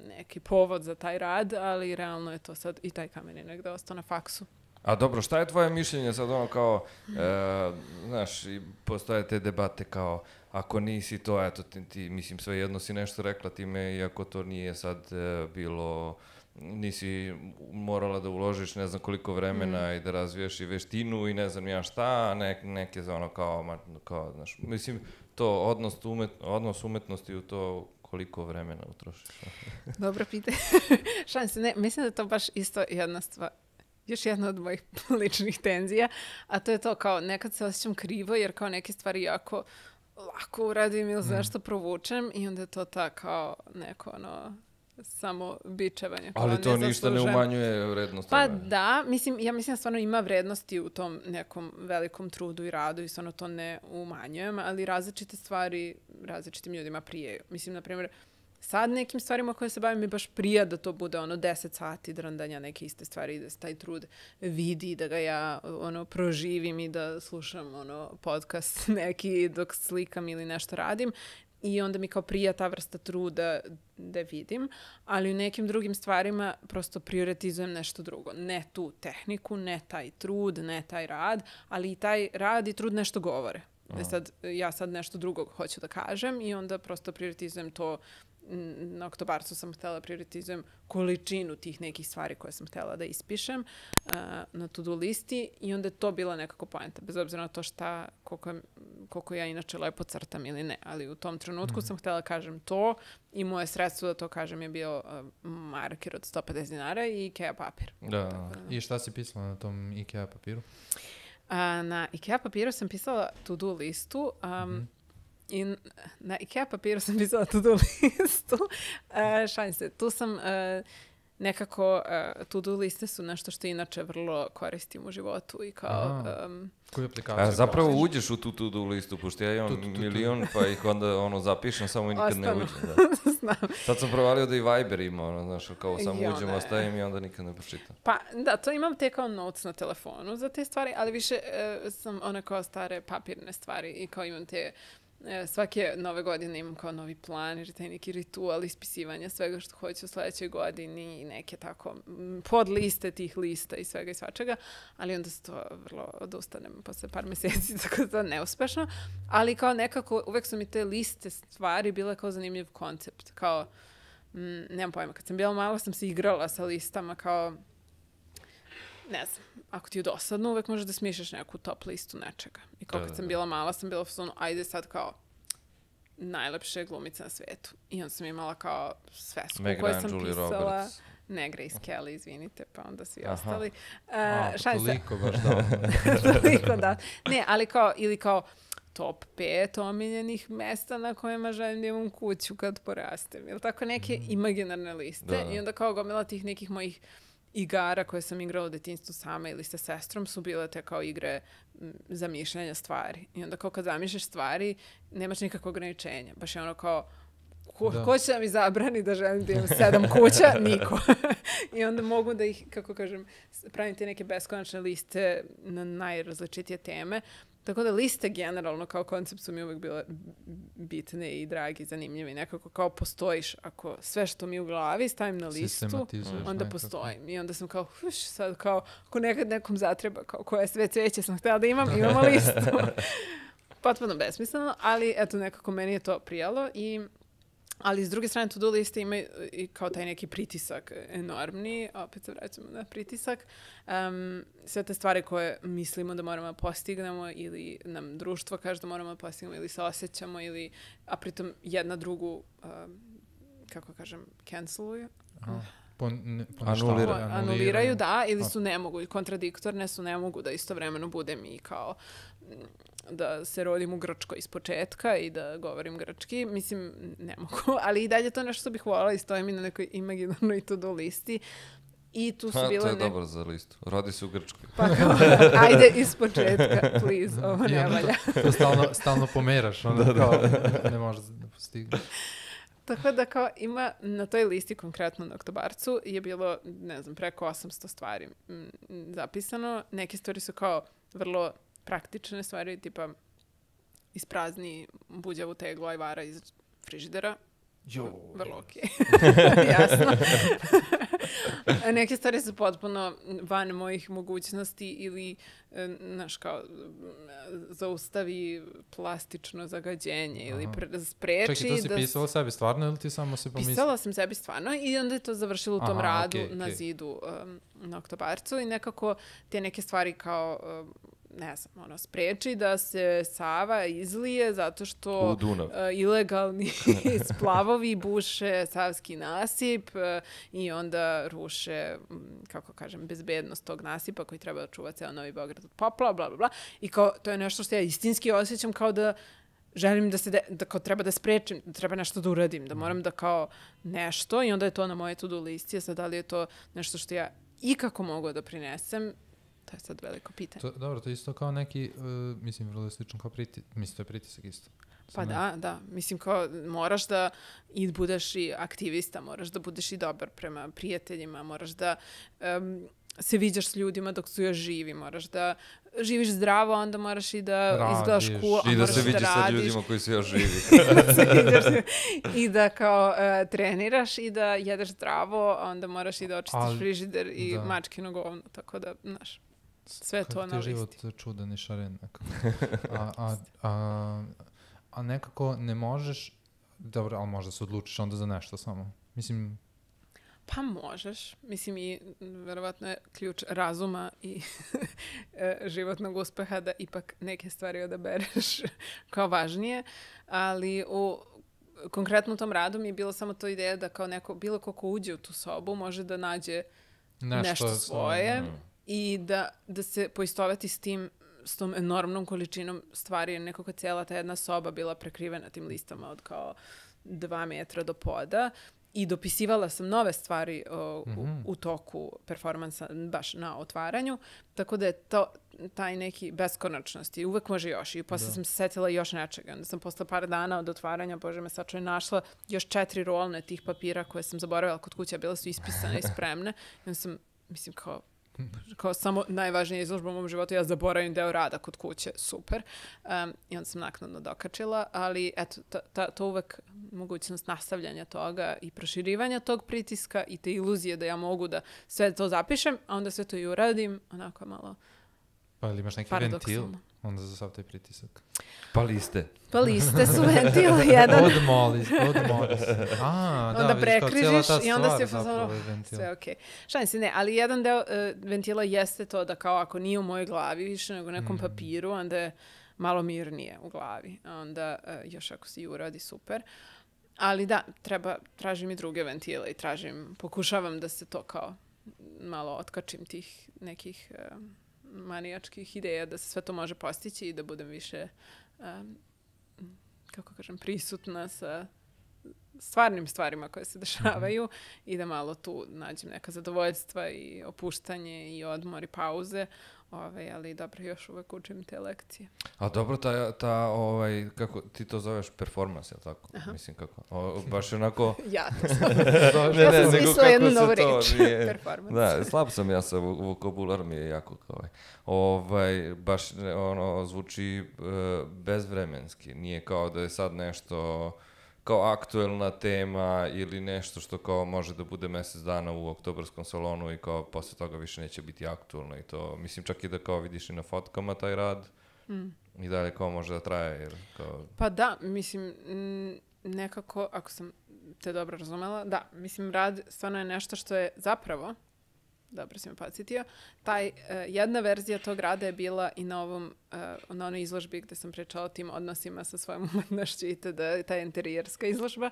neki povod za taj rad, ali realno je to sad i taj kamen je negde ostao na faksu. A dobro, šta je tvoje mišljenje sad ono kao, e, znaš, i postoje te debate kao, ako nisi to, eto ti, ti mislim, svejedno si nešto rekla time, iako to nije sad e, bilo, nisi morala da uložiš ne znam koliko vremena i da razviješ i veštinu i ne znam ja šta, ne, neke za ono kao, ma, kao, znaš, mislim, to odnos, umet, odnos umetnosti u to koliko vremena utrošiš. Dobro pitanje. Šalim se, ne, mislim da je to baš isto jedna stvar, još jedna od mojih ličnih tenzija, a to je to kao nekad se osjećam krivo jer kao neke stvari jako lako uradim ili za nešto provučem i onda je to ta kao neko ono samo bičevanje. kao Ali to ništa ne zaslužujem. umanjuje vrednost Pa toga. da, mislim, ja mislim da stvarno ima vrednosti u tom nekom velikom trudu i radu i stvarno to ne umanjujem, ali različite stvari različitim ljudima prijeju. Mislim, na primjer, sad nekim stvarima koje se bavim mi baš prija da to bude ono deset sati drandanja neke iste stvari i da se taj trud vidi, da ga ja ono proživim i da slušam ono podcast neki dok slikam ili nešto radim. I onda mi kao prija ta vrsta truda da vidim, ali u nekim drugim stvarima prosto prioritizujem nešto drugo. Ne tu tehniku, ne taj trud, ne taj rad, ali i taj rad i trud nešto govore. E sad, ja sad nešto drugo hoću da kažem i onda prosto prioritizujem to. Na Oktobarcu sam htjela prioritizujem količinu tih nekih stvari koje sam htjela da ispišem uh, na to-do listi i onda je to bila nekako poenta, bez obzira na to šta, koliko, koliko ja inače lepo crtam ili ne, ali u tom trenutku mm-hmm. sam htjela kažem to i moje sredstvo da to kažem je bio uh, marker od sto pedeset dinara i Ikea papir. Da. Tako, I šta si pisala na tom Ikea papiru? Uh, na Ikea papiru sam pisala to-do listu, um, mm-hmm. I na Ikea papiru sam pisala to-do listu. Uh, šalim se, tu sam uh, nekako, uh, to-do liste su nešto što inače vrlo koristim u životu i kao... Um, Koju aplikaciju? A zapravo postiš? Uđeš u tu to-do listu, pošto ja imam tu, tu, tu, tu. milion, pa ih onda ono zapišem, samo i nikad Ostano. ne uđem. Da. Znam. Sad sam provalio da i Viber ima, ono, znaš, kao samo ja, uđem, ne. ostavim i onda nikad ne pročitam. Pa da, to imam te kao notes na telefonu za te stvari, ali više uh, sam one kao stare papirne stvari i kao imam te... Svake nove godine imam kao novi plan, jer taj neki ritual ispisivanja svega što hoću u sljedećoj godini i neke tako podliste tih lista i svega i svačega, ali onda se to vrlo odustanem posle par mjeseci, tako da to neuspešno, ali kao nekako uvek su mi te liste stvari bile kao zanimljiv koncept, kao, m, nemam pojma, kad sam bila malo sam se igrala sa listama kao, ne znam, ako ti je dosadno, uvek možeš da smišljaš neku top listu nečega. I kao kad sam bila mala, sam bila u fazonu, ajde sad kao najlepše glumice na svetu. I onda sam imala kao svesku koju sam Julie pisala. Roberts. Ne, Grace Kelly, izvinite, pa onda svi Aha. ostali. Uh, A, pa toliko baš da. Toliko da. Ne, ali kao, ili kao top pet omiljenih mesta na kojima želim da imam kuću kad porastem. Ili tako neke mm. imaginarne liste. Da. I onda kao gomila tih nekih mojih igara koje sam igrala u detinjstvu sama ili sa sestrom su bile te kao igre m, zamišljanja stvari. I onda kao kad zamišljaš stvari, nemaš nikakvog ograničenja. Baš je ono kao, ko, ko će da mi zabrani da želim da imam sedam kuća? Niko. I onda mogu da ih, kako kažem, pravim te neke beskonačne liste na najrazličitije teme. Tako da liste generalno kao koncept su mi uvijek bile bitne i dragi, zanimljive. Nekako kao postojiš, ako sve što mi u glavi stavim na listu, onda nekako. Postojim. I onda sam kao, huš, sad kao, ako nekad nekom zatreba, kao koje sve cveće sam htjela da imam, imamo listu. Potpuno besmisleno, ali eto nekako meni je to prijalo i... Ali s druge strane, to-do liste imaju i kao taj neki pritisak enormni, opet se vraćamo na pritisak. Um, sve te stvari koje mislimo da moramo da postignemo ili nam društvo kaže da moramo da postignemo ili se osjećamo, ili, a pritom jedna drugu, um, kako kažem, canceluju. Aha. Pon, Anuliraju. Anuliraju, anuliraju, da, ili su ne mogu, kontradiktorne su, ne mogu da istovremeno budem i kao da se rodim u Grčkoj iz početka i da govorim grčki. Mislim, ne mogu, ali i dalje to nešto što bih voljela i stoji mi na nekoj imaginarnoj to-do listi. I tu su ha, bile... To je ne... dobro za listu. Rodi se u Grčkoj. Pa kao, ajde iz početka, please, ovo ne valja. To, to stalno, stalno pomeraš, ono da, kao da. Ne možeš da postigneš. Tako da kao ima na toj listi konkretno na Oktobarcu je bilo, ne znam, preko osamsto stvari m, zapisano. Neke stvari su kao vrlo praktične stvari, tipa isprazni buđavu teglu ajvara iz frižidera. Jo. Vrlo okej. Jasno. Neke stvari su potpuno van mojih mogućnosti ili, znaš, kao zaustavi plastično zagađenje ili pre, spreči. Čekaj, to si da pisala sebi stvarno ili ti samo se pomislila? Pisala sam sebi stvarno i onda je to završilo u tom Aha, radu okay, na okay. zidu um, na Oktobarcu i nekako te neke stvari kao... Um, ne znam, ono, spreči da se Sava izlije zato što uh, ilegalni splavovi buše Savski nasip uh, i onda ruše, um, kako kažem, bezbednost tog nasipa koji treba da čuva ceo Novi Beograd od poplava, bla, bla, bla. I kao, to je nešto što ja istinski osjećam kao da želim da se, de, da kao treba da sprečim, da treba nešto da uradim, da moram da kao nešto i onda je to na moje to-do listi, a sad da li je to nešto što ja ikako mogu da prinesem, to je sad veliko pitanje. To, dobro, to je isto kao neki, uh, mislim, vrlo slično kao pritisak, mislim, to je pritisak isto. Pa da, da. Mislim, kao moraš da i budeš i aktivista, moraš da budeš i dobar prema prijateljima, moraš da um, se viđaš s ljudima dok su još živi, moraš da živiš zdravo, onda moraš i da Radiš. izgledaš cool, a I da moraš se da vidiš sa radiš. ljudima koji su još živi. I da kao uh, treniraš i da jedeš zdravo, a onda moraš i da očistiš Ali- frižider i da. mačkino govno, tako da, znaš, sve to Kako na ti je listi. život čudan i šaren nekako. A, a, a, a nekako ne možeš, dobro, ali možda se odlučiš onda za nešto samo. Mislim, Pa možeš. Mislim i verovatno je ključ razuma i e, životnog uspeha da ipak neke stvari odabereš kao važnije, ali u konkretno u tom radu mi je bilo samo to ideja da kao neko, bilo ko ko uđe u tu sobu može da nađe nešto, nešto svoje Mm. i da, da se poistoveti s tim, s tom enormnom količinom stvari, jer nekako cijela ta jedna soba bila prekrivena tim listama od kao dva metra do poda i dopisivala sam nove stvari o, u, Mhm. u toku performansa baš na otvaranju, tako da je to taj neki beskonačnost i uvek može još. I posle Da. sam se setila još nečega. Onda sam posle par dana od otvaranja, bože me sačuvaj, našla još četiri rolne tih papira koje sam zaboravila kod kuće, a bile su ispisane i spremne. I onda sam, mislim, kao kao samo najvažnija izložba u mom životu, ja zaboravim deo rada kod kuće, super. Um, I onda sam naknadno dokačila, ali eto, ta, ta, to uvek mogućnost nastavljanja toga i proširivanja tog pritiska i te iluzije da ja mogu da sve to zapišem, a onda sve to i uradim, onako malo pa ili imaš neki ventil, paradoksalno. onda za sav taj pritisak. Pa liste. Pa liste su ventil jedan. Odmoli, odmoli se. A, da, Onda vidiš, kao cijela prekrižiš ta i onda stvar si u zapravo fazonu, je ventil. sve okej. Šalim se, ne, ali jedan deo uh, ventila jeste to da kao ako nije u mojoj glavi više nego u nekom Mm. papiru, onda je malo mirnije u glavi. A onda uh, još ako se i uradi, super. Ali da, treba, tražim i druge ventile i tražim, pokušavam da se to kao malo otkačim tih nekih uh, manijačkih ideja da se sve to može postići i da budem više um, kako kažem, prisutna sa stvarnim stvarima koje se dešavaju i da malo tu nađem neka zadovoljstva i opuštanje i odmor i pauze. Ove, ali dobro, još uvek učim te lekcije. A dobro, ta, ta ovaj, kako ti to zoveš, performans, je tako? Aha. Mislim, kako? O, baš onako... Ja to sam. Ne, ja ne, sam nego smislila kako jednu se novu to reč. nije- Performance. Da, slab sam ja sa vo- vokabular mi je jako kao ovaj. Ovaj, baš ne, ono, zvuči e, bezvremenski. Nije kao da je sad nešto kao aktuelna tema ili nešto što kao može da bude mjesec dana u oktobarskom salonu i kao posle toga više neće biti aktuelno i to. Mislim, čak i da kao vidiš i na fotkama taj rad Mm. i dalje kao može da traje. Jer kao... Pa da, mislim, mm, nekako, ako sam te dobro razumela, da, mislim, rad stvarno je nešto što je zapravo, dobro si me podsjetio, taj, uh, jedna verzija tog rada je bila i na ovom, uh, na onoj izložbi gde sam pričala o tim odnosima sa svojom umetnošću i tada, ta interijerska izložba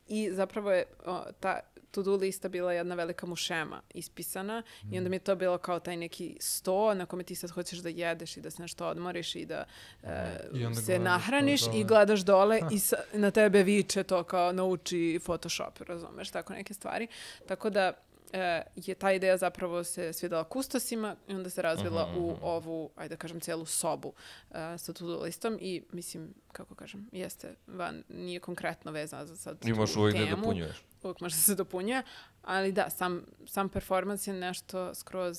i zapravo je o, ta to-do lista bila jedna velika mušema ispisana mm. i onda mi je to bilo kao taj neki sto na kome ti sad hoćeš da jedeš i da se nešto odmoriš i da uh, I onda se gledaš nahraniš to i dole. gledaš dole i sa, na tebe viče to kao nauči Photoshop, razumeš, tako neke stvari. Tako da e, je ta ideja zapravo se svidela kustosima i onda se razvila Mhm, u mhm. ovu, ajde da kažem, cijelu sobu e, sa to-do listom i mislim, kako kažem, jeste van, nije konkretno vezana za sad Imaš tu uvijek da temu. dopunjuješ. Uvijek može da se dopunjuje, ali da, sam, sam performans je nešto skroz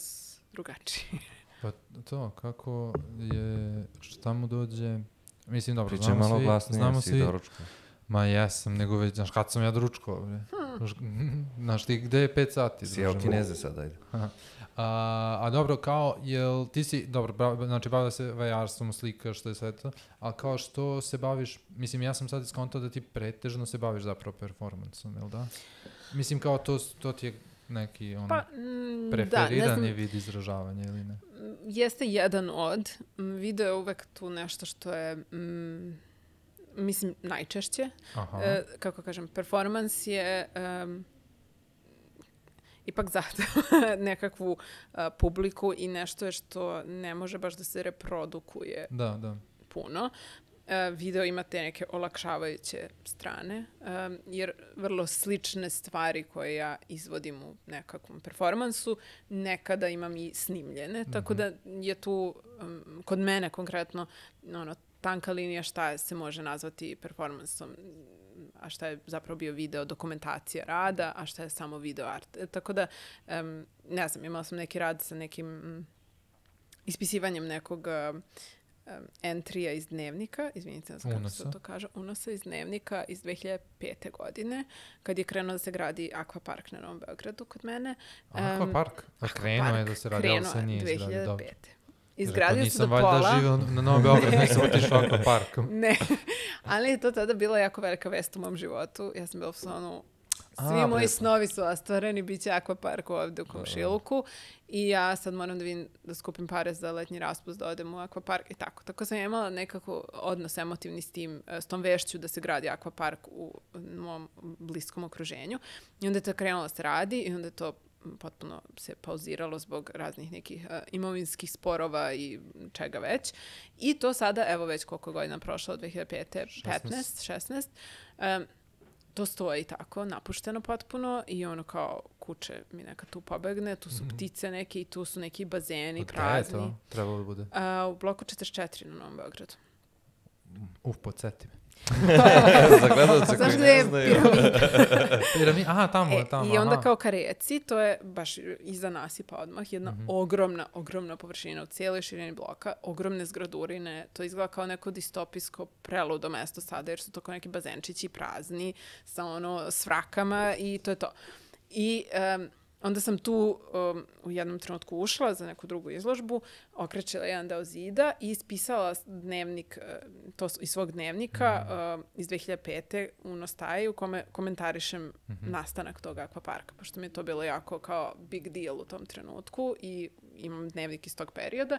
drugačije. Pa to, kako je, šta mu dođe, mislim, dobro, Pričaj znamo malo svi, glasnije, znamo si svi, doručko. ma jesam, nego već, znaš, kad sam ja doručkovao, bre? Hmm. Znaš ti, gde je pet sati? Si jeo druže? Kineze sad, ajde. A, a dobro, kao, jel ti si, dobro, bra, znači bavila se vajarstvom, slika, što je sve to, ali kao što se baviš, mislim, ja sam sad iskontao da ti pretežno se baviš zapravo performansom, jel da? Mislim, kao to, to ti je neki, ono, Pa, mm, da, ne preferirani znam, vid izražavanja ili ne? jeste jedan od. M, Video je uvek tu nešto što je, mm, mislim, najčešće. Aha. E, kako kažem, performans je em, ipak zato nekakvu a, publiku i nešto je što ne može baš da se reprodukuje Da, da. puno. E, video ima te neke olakšavajuće strane, em, jer vrlo slične stvari koje ja izvodim u nekakvom performansu, nekada imam i snimljene, tako da je tu, em, kod mene konkretno, ono, tanka linija šta se može nazvati performansom, a šta je zapravo bio video dokumentacija rada, a šta je samo video art. E, tako da, um, ne znam, imala sam neki rad sa nekim mm, ispisivanjem nekog uh, um, entrija iz dnevnika, izvinite, ne znam kako se to kaže, unosa iz dnevnika iz dve hiljade pete. godine, kad je krenuo da se gradi akvapark na Novom Beogradu kod mene. Um, akvapark? A krenuo je da se radi, ali se nije izgradio. dve hiljade pete. Izgradio se do pola. Nisam valjda živio na Novom Beogradu, nisam otišao akvaparkom. Ne, ali je to tada bila jako velika vest u mom životu. Ja sam bila u fazonu, svi A, moji prepo. snovi su ostvareni, bit će akvapark ovde u komšiluku i ja sad moram da vidim da skupim pare za letnji raspust, da odem u akvapark i tako. Tako sam imala nekako odnos emotivni s tim, s tom vešću da se gradi akvapark u mom bliskom okruženju. I onda je to krenulo da se radi i onda je to potpuno se pauziralo zbog raznih nekih uh, imovinskih sporova i čega već. I to sada, evo već koliko godina prošlo od dve hiljade pete. petnaest, šesnaest. Um, to stoji tako, napušteno potpuno i ono kao kuće mi neka tu pobegne, tu su mm-hmm. ptice neke i tu su neki bazeni od prazni. Od je to? Trebalo da bude? Uh, u bloku četrdeset četiri na Novom Beogradu. Uf, podsjeti me. Za gledalce koji ne znaju. Piramid. Aha, tamo je, e, tamo. I onda aha. kao ka reci, to je baš iza nasipa odmah, jedna mm-hmm. ogromna, ogromna površina u cijeloj širini bloka, ogromne zgradurine, to izgleda kao neko distopijsko preludo mesto sada, jer su to kao neki bazenčići prazni, sa ono svrakama i to je to. I um, onda sam tu um, u jednom trenutku ušla za neku drugu izložbu, okrećila jedan deo zida i ispisala dnevnik, to iz svog dnevnika mm. uh, iz dve hiljade pete. u Nostaji u kome komentarišem mm-hmm. nastanak tog akvaparka, pošto mi je to bilo jako kao big deal u tom trenutku i imam dnevnik iz tog perioda.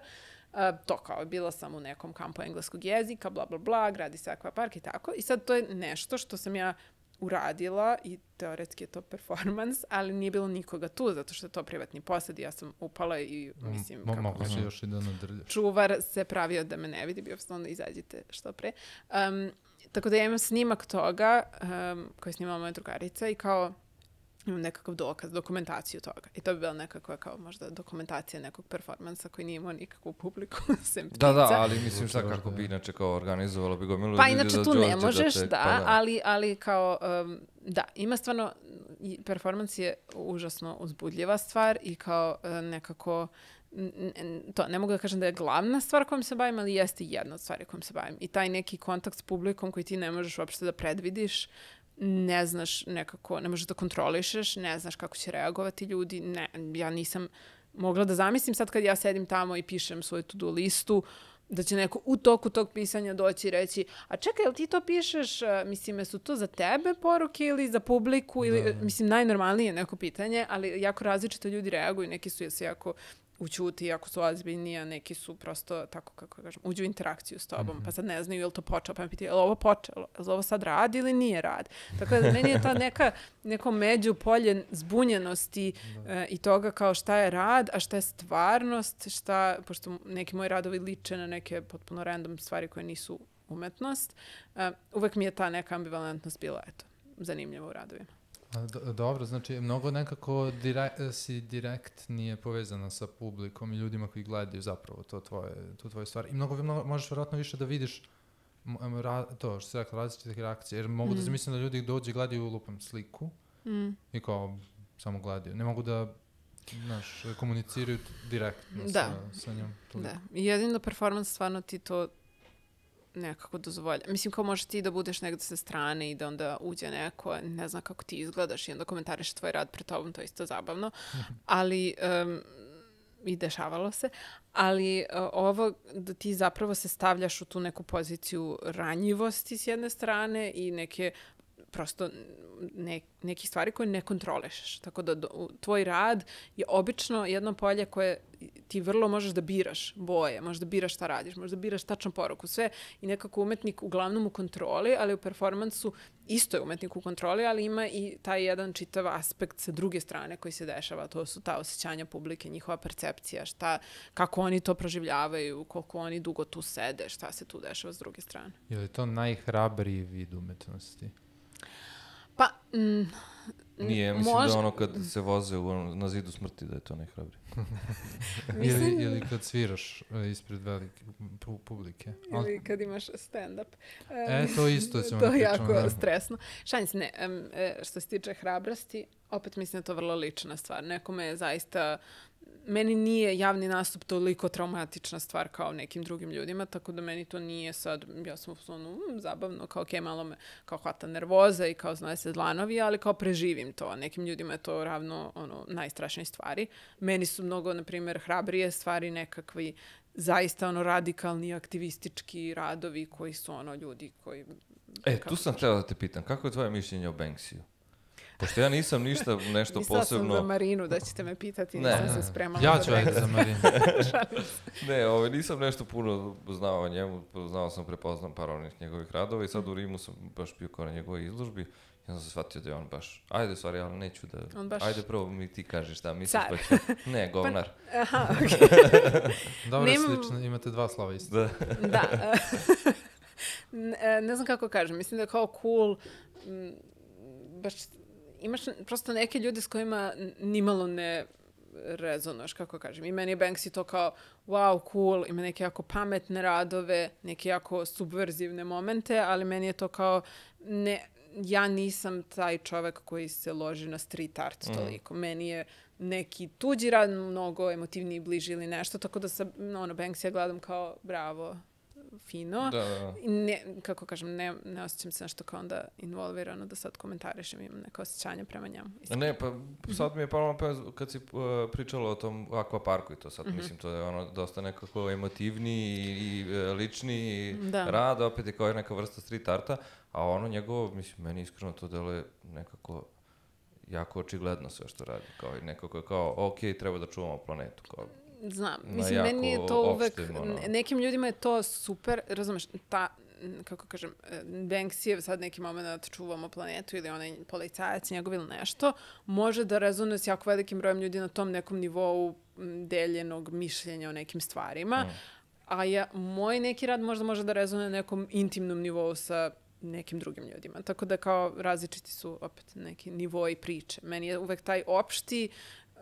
Uh, to kao, bila sam u nekom kampu engleskog jezika, bla, bla, bla, gradi se akvapark i tako. I sad to je nešto što sam ja uradila i teoretski je to performans, ali nije bilo nikoga tu, zato što je to privatni posed. Ja sam upala i mislim... Mo, mogu se još i da nadrljaš. Čuvar se pravio da me ne vidi, bio sam onda izađite što pre. Um, tako da ja imam snimak toga um, koji je snimala moja drugarica i kao imam nekakav dokaz, dokumentaciju toga. I to bi bila nekakva kao možda dokumentacija nekog performansa koji nije imao nikakvu publiku, sem ptica. Da, da, ali mislim šta kako bi inače kao organizovalo bi gomilu pa ljudi da inače tu ne možeš, da, te, da, pa da. Ali, ali kao, um, da, ima stvarno, performans je užasno uzbudljiva stvar i kao uh, nekako, n- to, ne mogu da kažem da je glavna stvar kojom se bavim, ali jeste jedna od stvari kojom se bavim. I taj neki kontakt s publikom koji ti ne možeš uopšte da predvidiš, ne znaš nekako, ne možeš da kontrolišeš, ne znaš kako će reagovati ljudi. Ne, ja nisam mogla da zamislim sad kad ja sedim tamo i pišem svoju to-do listu, da će neko u toku tog pisanja doći i reći, a čekaj, jel ti to pišeš, mislim, su to za tebe poruke ili za publiku? Ili, da. Mislim, najnormalnije neko pitanje, ali jako različito ljudi reaguju, neki su se jako ućuti, jako su ozbiljni, a neki su prosto, tako kako kažem, uđu u interakciju s tobom, mm-hmm. pa sad ne znaju je li to počelo, pa me pitaju, je li ovo počelo, je li ovo sad radi ili nije rad? Tako da meni je to neka, neko međupolje zbunjenosti uh, i toga kao šta je rad, a šta je stvarnost, šta, pošto neki moji radovi liče na neke potpuno random stvari koje nisu umetnost, uh, uvek mi je ta neka ambivalentnost bila, eto, zanimljiva u radovima. Do, dobro, znači mnogo nekako direkt, si direkt nije povezana sa publikom i ljudima koji gledaju zapravo to tvoje, tu tvoju stvar. I mnogo, mnogo možeš vjerojatno više da vidiš ra, to što se rekla, različitih reakcija. Jer mogu mm. da se mislim da ljudi dođe i gledaju lupam sliku mm. i kao samo gledaju. Ne mogu da znaš, komuniciraju direktno da. sa, sa njom. Da, i jedino performans stvarno ti to nekako dozvolja. Mislim, kao možeš ti da budeš negde sa strane i da onda uđe neko, ne znam kako ti izgledaš i onda komentariš tvoj rad pred tobom, to je isto zabavno. Ali, um, i dešavalo se, ali uh, ovo da ti zapravo se stavljaš u tu neku poziciju ranjivosti s jedne strane i neke prosto ne, neki stvari koje ne kontrolišeš. Tako da do, tvoj rad je obično jedno polje koje ti vrlo možeš da biraš boje, možeš da biraš šta radiš, možeš da biraš tačnu poruku, sve i nekako umetnik uglavnom u kontroli, ali u performansu isto je umetnik u kontroli, ali ima i taj jedan čitav aspekt sa druge strane koji se dešava, to su ta osjećanja publike, njihova percepcija, šta, kako oni to proživljavaju, koliko oni dugo tu sede, šta se tu dešava s druge strane. Je li to najhrabriji vid umetnosti? Pa, mm, Nije, mislim Mož... da ono kad se voze u, na zidu smrti da je to najhrabrije. Mislim... ili, ili kad sviraš ispred velike pu publike. Ali... Ili kad imaš stand-up. Um, e, to isto ćemo to da pričamo. To je jako da. stresno. Šalim se, ne, um, što se tiče hrabrosti, opet mislim da je to vrlo lična stvar. Nekome je zaista... Meni nije javni nastup toliko traumatična stvar kao nekim drugim ljudima, tako da meni to nije sad, ja sam ono, mm, zabavno, kao okej, okay, malo me kao hvata nervoza i kao znaje se dlanovi, ali kao preživim to. Nekim ljudima je to ravno ono, najstrašnije stvari. Meni su mnogo, na primjer, hrabrije stvari nekakvi zaista ono radikalni, aktivistički radovi koji su ono ljudi koji... E, tu sam htjela da te pitam, kako je tvoje mišljenje o Banksiju? Pošto ja nisam ništa nešto Mislila posebno... Mislila sam za Marinu da ćete me pitati, ne. Nisam se spremala. Ja ću ajde za Marinu. ne, ovaj, nisam nešto puno znao o njemu, znao sam, prepoznam par onih njegovih radova i sad u Rimu sam baš bio kao na njegovoj izložbi i onda sam shvatio da je on baš, ajde, stvari, ali neću da... Baš... Ajde, prvo mi ti kažeš šta misliš, pa ću... Ne, govnar. Pa, aha, okej. Okay. Dobro, Nim... slično, imate dva slova isto. Da. da. ne, ne znam kako kažem, mislim da je kao cool, m, baš... Imaš prosto neke ljude s kojima nimalo ne rezonuješ, kako kažem. I meni je Banksy to kao, wow, cool, ima neke jako pametne radove, neke jako subverzivne momente, ali meni je to kao, ne, ja nisam taj čovek koji se loži na street art toliko. Mm. Meni je neki tuđi rad mnogo emotivniji, bliži ili nešto, tako da sa, ono, Banksy ja gledam kao, bravo, fino. Da, da. Ne, kako kažem, ne, ne osjećam se nešto kao onda involvirano da sad komentarišem, imam neke osjećanja prema njemu. Iskreno. Ne, pa sad mi je palo na pamet kad si uh, pričala o tom akvaparku i to sad, mm-hmm. mislim, to je ono dosta nekako emotivniji i, i lični rad, opet je kao neka vrsta street arta, a ono njegovo, mislim, meni iskreno to deluje nekako jako očigledno sve što radi, kao i nekako kao, ok, treba da čuvamo planetu, kao... Znam, mislim, meni je to uvek, ono. Nekim ljudima je to super, razumeš, ta, kako kažem, Banksy sad neki moment čuvamo planetu ili onaj policajac njegov ili nešto, može da rezonuje s jako velikim brojem ljudi na tom nekom nivou deljenog mišljenja o nekim stvarima, mm. a ja, moj neki rad možda može da rezonuje na nekom intimnom nivou sa nekim drugim ljudima. Tako da kao različiti su opet neki nivoi priče. Meni je uvek taj opšti uh,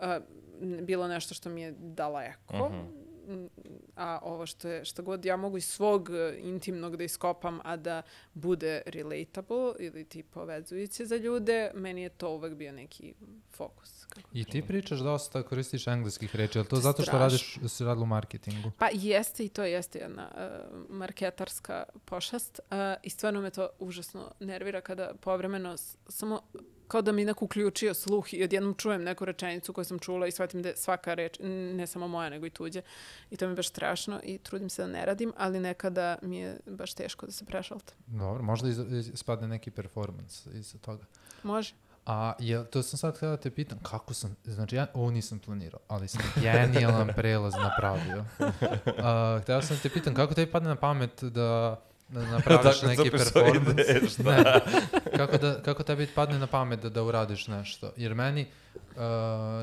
bilo nešto što mi je daleko, uh-huh. a ovo što je, što god ja mogu iz svog intimnog da iskopam, a da bude relatable ili ti povezujuće za ljude, meni je to uvek bio neki fokus. Kako I ti pričaš dosta, koristiš engleskih reči, ali to zato što radiš, si radila u marketingu? Pa jeste i to jeste jedna uh, marketarska pošast uh, i stvarno me to užasno nervira kada povremeno s- samo kao da mi neko uključio sluh i odjednom čujem neku rečenicu koju sam čula i shvatim da je svaka reč, ne samo moja, nego i tuđe. I to mi je baš strašno i trudim se da ne radim, ali nekada mi je baš teško da se prešaltam. Dobro, možda iz, iz, spadne neki performans iza toga. Može. A je, to sam sad htjela da te pitam, kako sam, znači ja ovo nisam planirao, ali sam genijalan prelaz napravio. Uh, htjela sam da te pitam, kako tebi padne na pamet da... da napraviš neki performans. Ne, kako, da, kako tebi padne na pamet da, da uradiš nešto? Jer meni, uh,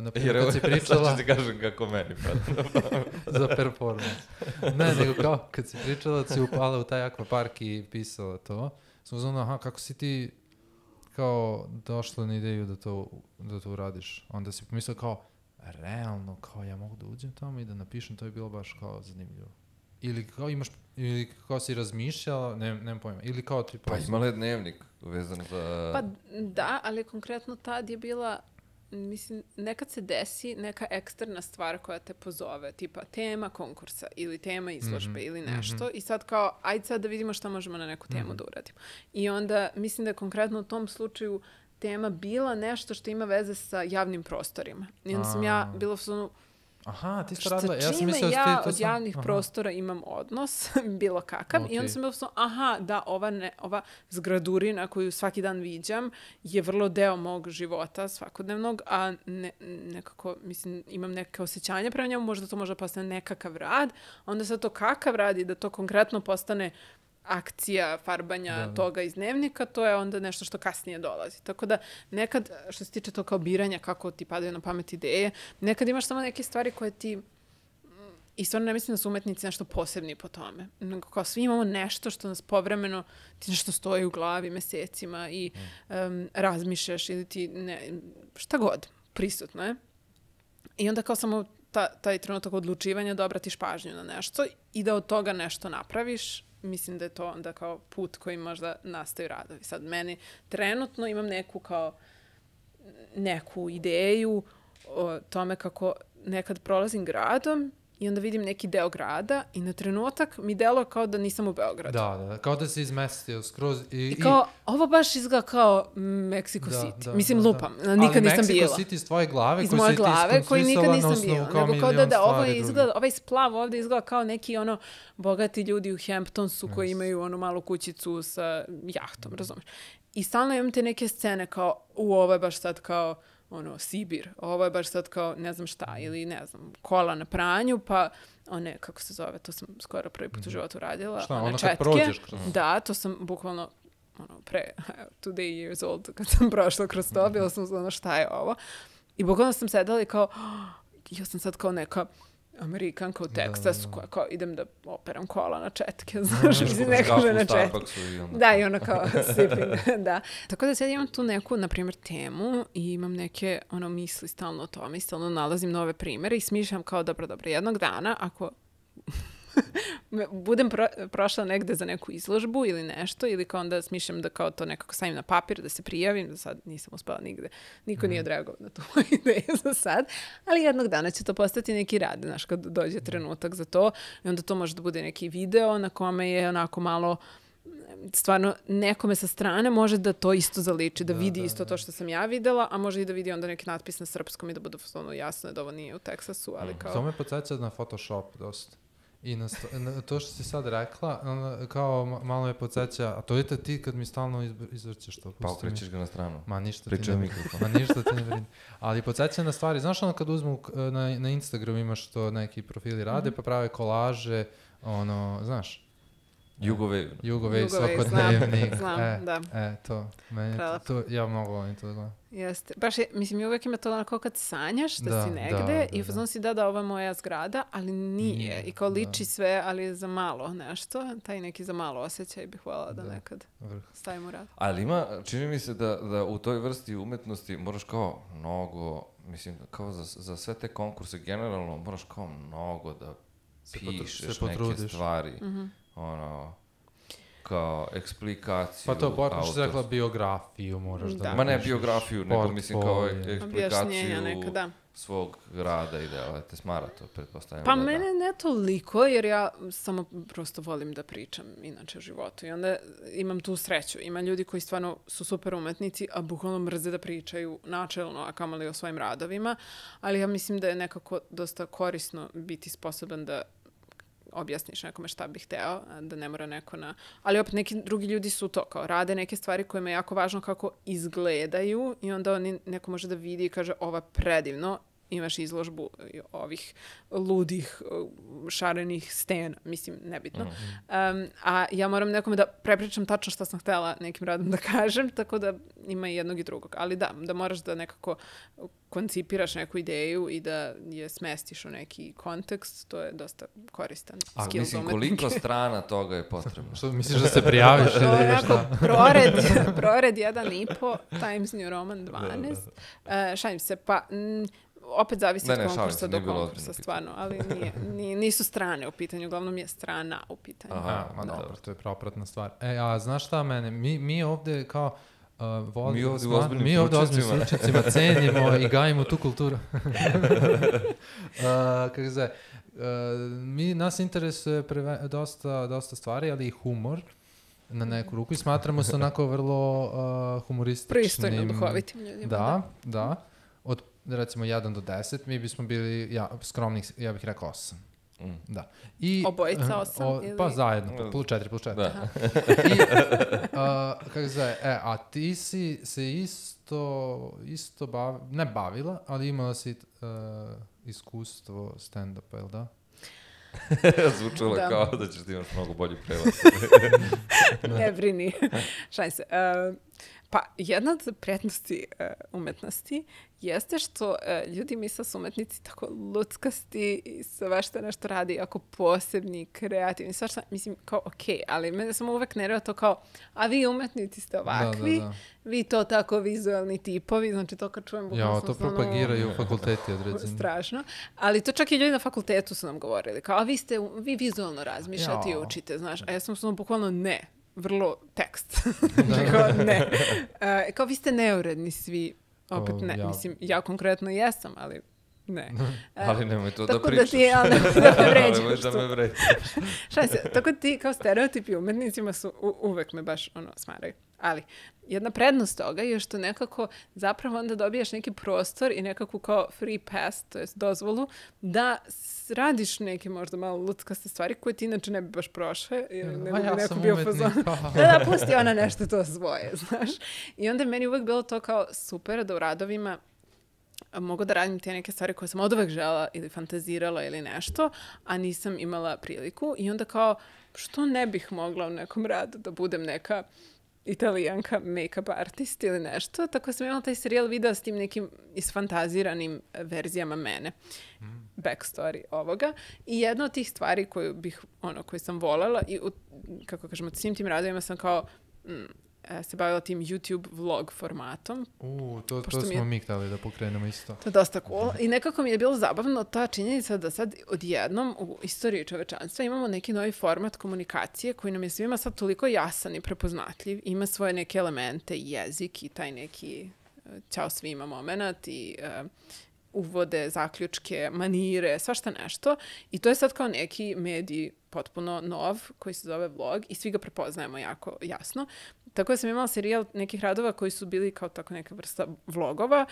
na primjer, kad si pričala... Sad ću ti kažem kako meni padne na pamet. Za performans. Ne, nego kao, kad si pričala da si upala u taj akvapark i pisala to, sam uzmano, aha, kako si ti kao došla na ideju da to, da to uradiš? Onda si pomislila kao, realno, kao ja mogu da uđem tamo i da napišem, to je bilo baš kao zanimljivo. Ili kao imaš, ili kao si razmišljala, ne, nemam pojma, ili kao ti... Pa imala je dnevnik vezan za... Pa da, ali konkretno tad je bila, mislim, nekad se desi neka eksterna stvar koja te pozove, tipa tema konkursa ili tema izložbe mm-hmm. ili nešto mm-hmm. i sad kao, ajde sad da vidimo šta možemo na neku temu mm-hmm. da uradimo. I onda mislim da je konkretno u tom slučaju tema bila nešto što ima veze sa javnim prostorima. I onda sam ja bila u sonu, aha, ti ste radila, ja sam mislila ja da ti to od sam... javnih aha. prostora imam odnos, bilo kakav, okay. I onda sam bila sam, aha, da, ova, ne, ova zgradurina koju svaki dan viđam je vrlo deo mog života svakodnevnog, a ne, nekako, mislim, imam neke osjećanja prema njemu, možda to može postane nekakav rad, onda sad to kakav rad i da to konkretno postane akcija farbanja da, da. toga iz dnevnika, to je onda nešto što kasnije dolazi. Tako da nekad, što se tiče to kao biranja, kako ti padaju na pamet ideje, nekad imaš samo neke stvari koje ti I stvarno ne mislim da su umetnici nešto posebni po tome. Nego kao svi imamo nešto što nas povremeno, ti nešto stoji u glavi mesecima i um, razmišljaš ili ti ne, šta god, prisutno je. I onda kao samo ta, taj trenutak odlučivanja da obratiš pažnju na nešto i da od toga nešto napraviš. Mislim da je to onda kao put koji možda nastaju radovi. Sad meni trenutno imam neku kao neku ideju o tome kako nekad prolazim gradom i onda vidim neki deo grada i na trenutak mi deluje kao da nisam u Beogradu. Da, da, kao da se izmestio skroz. I, I kao, i... ovo baš izgleda kao Mexico da, City. Da, Mislim, da, lupam, da. nikad ali nisam bila. Ali Mexico City iz tvoje glave, iz koji moje si glave, ti koji nikad nisam bila. Kao nego kao da, da ovo izgleda, drugi. ovaj splav ovdje izgleda kao neki ono bogati ljudi u Hamptonsu yes. koji imaju onu malu kućicu sa jahtom, razumiješ? I stalno imam te neke scene kao, u ovo je baš sad kao ono, Sibir, ovo je baš sad kao ne znam šta, ili ne znam, kola na pranju, pa one, kako se zove, to sam skoro prvi put u životu radila. Šta, one ono četke. kad prođeš kroz... Da, to sam bukvalno ono, pre, two day years old, kad sam prošla kroz to, bila sam ono, šta je ovo? I bukvalno sam sedala i kao, oh, ja sam sad kao neka Amerikanka u Teksasu, koja kao idem da operam kola na četke, znaš, mislim, nekome na četke. Da, i ono kao sipping, da. Tako da sad imam tu neku, na primjer, temu i imam neke, ono, misli stalno o tome i stalno nalazim nove primere i smišljam kao, dobro, dobro, jednog dana, ako budem pro, prošla negde za neku izložbu ili nešto, ili kao onda smišljam da kao to nekako stavim na papir, da se prijavim, da sad nisam uspela nigde. Niko mm. nije odreagovao na tu ideju za sad, ali jednog dana će to postati neki rad, znaš, kad dođe trenutak za to i onda to može da bude neki video na kome je onako malo stvarno nekome sa strane može da to isto zaliči, da, da vidi da, isto da. to što sam ja videla, a može i da vidi onda neki natpis na srpskom i da bude ono jasno da ovo nije u Teksasu, ali kao... To me podsjeća na Photoshop dosta. I na, sto, na to što si sad rekla, kao malo me podsjeća, a to je ti kad mi stalno izvrćeš to. Pa okrećeš ga na stranu. Ma ništa Pričaj ti ne mikrofon. Ma ništa ti ne vidi. Ali podsjeća na stvari. Znaš ono kad uzmu na, na Instagram imaš to neki profili rade, mm-hmm. pa prave kolaže, ono, znaš? Jugovej. Jugovej, svakodnevnik. Znam, e, da. E, to. Meni to, to, ja mnogo volim to da gledam. Jeste. Baš je, mislim, i uvijek ima to onako kad sanjaš da, da si negde da, da, i fazon si da da ovo je moja zgrada, ali nije. nije I kao liči da. sve, ali za malo nešto. Taj neki za malo osjećaj bih voljela da, da nekad Vrh. stavim u rad. Ali ima, čini mi se da, da u toj vrsti umetnosti moraš kao mnogo, mislim, kao za, za sve te konkurse generalno moraš kao mnogo da se pišeš potru, neke stvari. Mm-hmm. Ono... kao eksplikaciju. Pa to, počneš se rekla biografiju, moraš da... da. Ma ne biografiju, nego mislim kao eksplikaciju neka, svog rada i dela. Te smara to, pretpostavljam. Pa da, mene da. ne toliko, jer ja samo prosto volim da pričam inače o životu. I onda imam tu sreću. Ima ljudi koji stvarno su super umetnici, a bukvalno mrze da pričaju načelno, a kamoli o svojim radovima. Ali ja mislim da je nekako dosta korisno biti sposoban da objasniš nekome šta bih hteo, da ne mora neko na... Ali opet neki drugi ljudi su to, kao rade neke stvari kojima je jako važno kako izgledaju i onda oni, neko može da vidi i kaže ovo je predivno, imaš izložbu ovih ludih, šarenih stena, mislim, nebitno. Mm-hmm. Um, a ja moram nekome da prepričam tačno šta sam htela nekim radom da kažem, tako da ima i jednog i drugog. Ali da, da moraš da nekako koncipiraš neku ideju i da je smestiš u neki kontekst, to je dosta koristan a, skill mislim, koliko strana toga je potrebno? Što misliš da se prijaviš? To je onako prored, prored jedan i po, Times New Roman dvanaest. Uh, šalim se, pa... M, opet zavisi ne, ne, od konkursa se, do konkursa, stvarno, ali nije, nije, nisu strane u pitanju, uglavnom je strana u pitanju. Aha, ma da. Dobro, to je propratna stvar. E, a znaš šta mene, mi, mi ovde kao uh, vod, mi ovde stvar, u ozbiljnim mi ovde ozbiljnim slučajcima cenimo i gajimo tu kulturu. uh, kako se zove, uh, mi, nas interesuje preve, dosta, dosta stvari, ali i humor na neku ruku i smatramo se onako vrlo uh, humorističnim. Pristojno duhovitim ljudima. Da, da. Od recimo jedan do deset, mi bismo bili ja, skromnih, ja bih rekao osam. Mm. Da. I, obojica osam? O, ili... Pa zajedno, plus četiri, plus četiri. Da. I, uh, kako se zove, e, a ti si se isto, isto bav, ne bavila, ali imala si uh, iskustvo stand-upa, jel da? Zvučalo da. kao da ćeš ti imaš mnogo bolji prevod. Ne brini. Šalim se. Uh, Pa jedna od prednosti uh, umetnosti jeste što uh, ljudi misle su umetnici tako luckasti i svašta nešto radi jako posebni, kreativni, svašta, mislim, kao okej, okay, ali mene samo uvek nervira to kao, a vi umetnici ste ovakvi, da, da, da. Vi to tako vizualni tipovi, znači to kad čujem bukvalno... Ja, to propagiraju ono, fakulteti određeni. Strašno, ali to čak i ljudi na fakultetu su nam govorili, kao, a vi ste, vi vizualno razmišljate ja. I učite, znaš, a ja sam samo bukvalno ne. Vrlo tekst. kao ne. Uh, kao vi ste neuredni svi. Opet ne. Ja. Mislim, ja konkretno jesam, ali ne. Uh, ali nemoj to da pričaš. Tako da ti, ali nemoj da me vređaš. da me vređaš. Šta se, tako ti kao stereotipi umetnicima su u, uvek me baš ono smaraju. Ali jedna prednost toga je što nekako zapravo onda dobijaš neki prostor i nekakvu kao free pass, to jest dozvolu, da radiš neke možda malo luckaste stvari koje ti inače ne bi baš prošle. Ili ne bi ja neko bio fazon. Da, da, pusti ona nešto to svoje, znaš. I onda je meni uvek bilo to kao super da u radovima mogu da radim te neke stvari koje sam od uvek žela ili fantazirala ili nešto, a nisam imala priliku. I onda kao, što ne bih mogla u nekom radu da budem neka Italijanka make-up artist ili nešto, tako sam imala taj serijal videa s tim nekim isfantaziranim verzijama mene. Mm. Backstory ovoga. I jedna od tih stvari koju bih, ono, koju sam voljela i, kako kažemo, svim tim radovima sam kao mm, se bavila tim YouTube vlog formatom. U, to, to smo je, mi htjeli da pokrenemo isto. To je dosta cool. I nekako mi je bilo zabavno ta činjenica da sad odjednom u istoriji čovečanstva imamo neki novi format komunikacije koji nam je svima sad toliko jasan i prepoznatljiv. Ima svoje neke elemente, jezik i taj neki uh, ćao svima moment i uh, uvode, zaključke, manire, svašta nešto. I to je sad kao neki medij potpuno nov koji se zove vlog i svi ga prepoznajemo jako jasno. Tako da sam imala serijal nekih radova koji su bili kao tako neka vrsta vlogova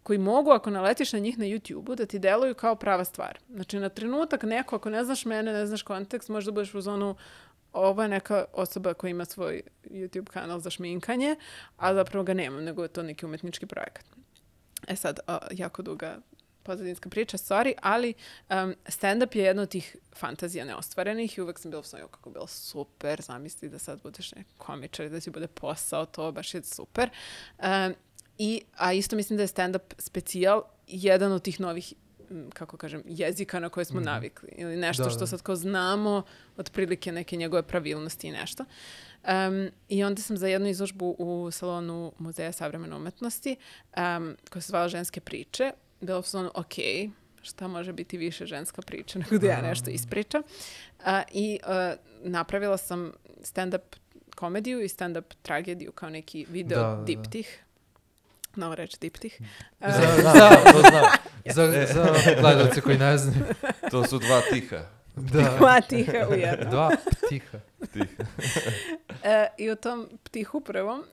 koji mogu, ako naletiš na njih na YouTube-u, da ti deluju kao prava stvar. Znači, na trenutak neko, ako ne znaš mene, ne znaš kontekst, možda budeš u zonu ovo je neka osoba koja ima svoj YouTube kanal za šminkanje, a zapravo ga nemam, nego je to neki umetnički projekat. E sad, o, jako duga pozadinska priča, sorry, ali um, stand-up je jedna od tih fantazija neostvarenih i uvek sam bila u svoju kako bilo super, zamisli da sad budeš neki komičar i da ti bude posao, to baš je super. Um, i, a isto mislim da je stand-up specijal jedan od tih novih, kako kažem, jezika na koje smo mm-hmm. navikli. Ili nešto da, što da. Sad kao znamo, otprilike neke njegove pravilnosti i nešto. Um, I onda sam za jednu izložbu u salonu Muzeja savremene umetnosti, um, koja se zvala Ženske priče, bila u salonu, ok, šta može biti više ženska priča nego da ja nešto ispričam. Uh, I uh, napravila sam stand-up komediju i stand-up tragediju kao neki video da, diptih. Novo reći diptih. Uh, za, da, to znam. Za, za gledalce koji ne znaju. To su dva tiha. Da. Dva tiha u jednom. Dva ptiha. Tiha. e, I u tom ptihu prvom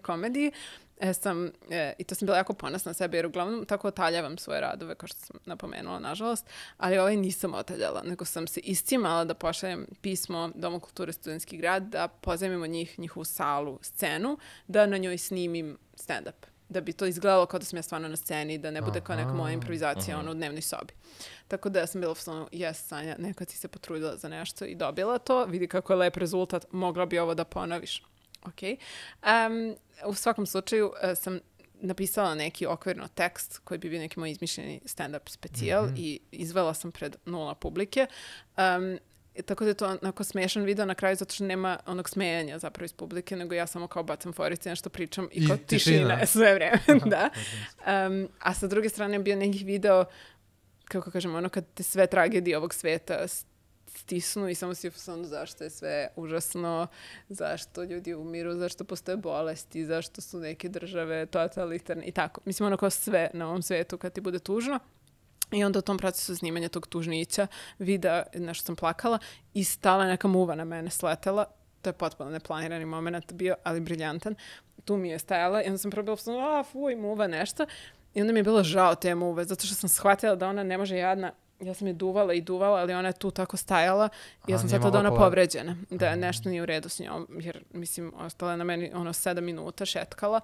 komediji e, sam, e, i to sam bila jako ponosna na sebe, jer uglavnom tako otaljavam svoje radove, kao što sam napomenula, nažalost, ali ovaj nisam otaljala, nego sam se iscimala da pošaljem pismo Domu kulture Studentski grad, da pozajmimo njih, njihovu salu, scenu, da na njoj snimim stand-up. Da bi to izgledalo kao da sam ja stvarno na sceni, da ne bude aha, kao neka moja improvizacija aha. ono u dnevnoj sobi. Tako da ja sam bila u stvarno, jes Sanja, nekad si se potrudila za nešto i dobila to, vidi kako je lep rezultat, mogla bi ovo da ponoviš. Ok. Um, u svakom slučaju uh, sam napisala neki okvirno tekst koji bi bio neki moj izmišljeni stand-up specijal mm-hmm. i izvela sam pred nula publike. Um, Tako da je to onako smiješan video na kraju zato što nema onog smejanja zapravo iz publike, nego ja samo kao bacam forice, nešto pričam i, I kao tišina, tišina sve vreme. da. Um, a sa druge strane je bio nekih video, kako kažem, ono kad te sve tragedije ovog sveta stisnu i samo si u fazonu zašto je sve užasno, zašto ljudi umiru, zašto postoje bolesti, zašto su neke države totalitarne i tako. Mislim ono kao sve na ovom svetu kad ti bude tužno. I onda u tom procesu snimanja tog tužnića vida, nešto sam plakala i stala neka muva na mene, sletela. To je potpuno neplanirani moment bio, ali briljantan. Tu mi je stajala i onda sam probila, a fuj, muva nešto. I onda mi je bilo žao te muve, zato što sam shvatila da ona ne može jadna. Ja sam je duvala i duvala, ali ona je tu tako stajala i ja sam shvatila da ona povređena. Da nešto nije u redu s njom, jer mislim, ostala je na meni ono sedam minuta, šetkala.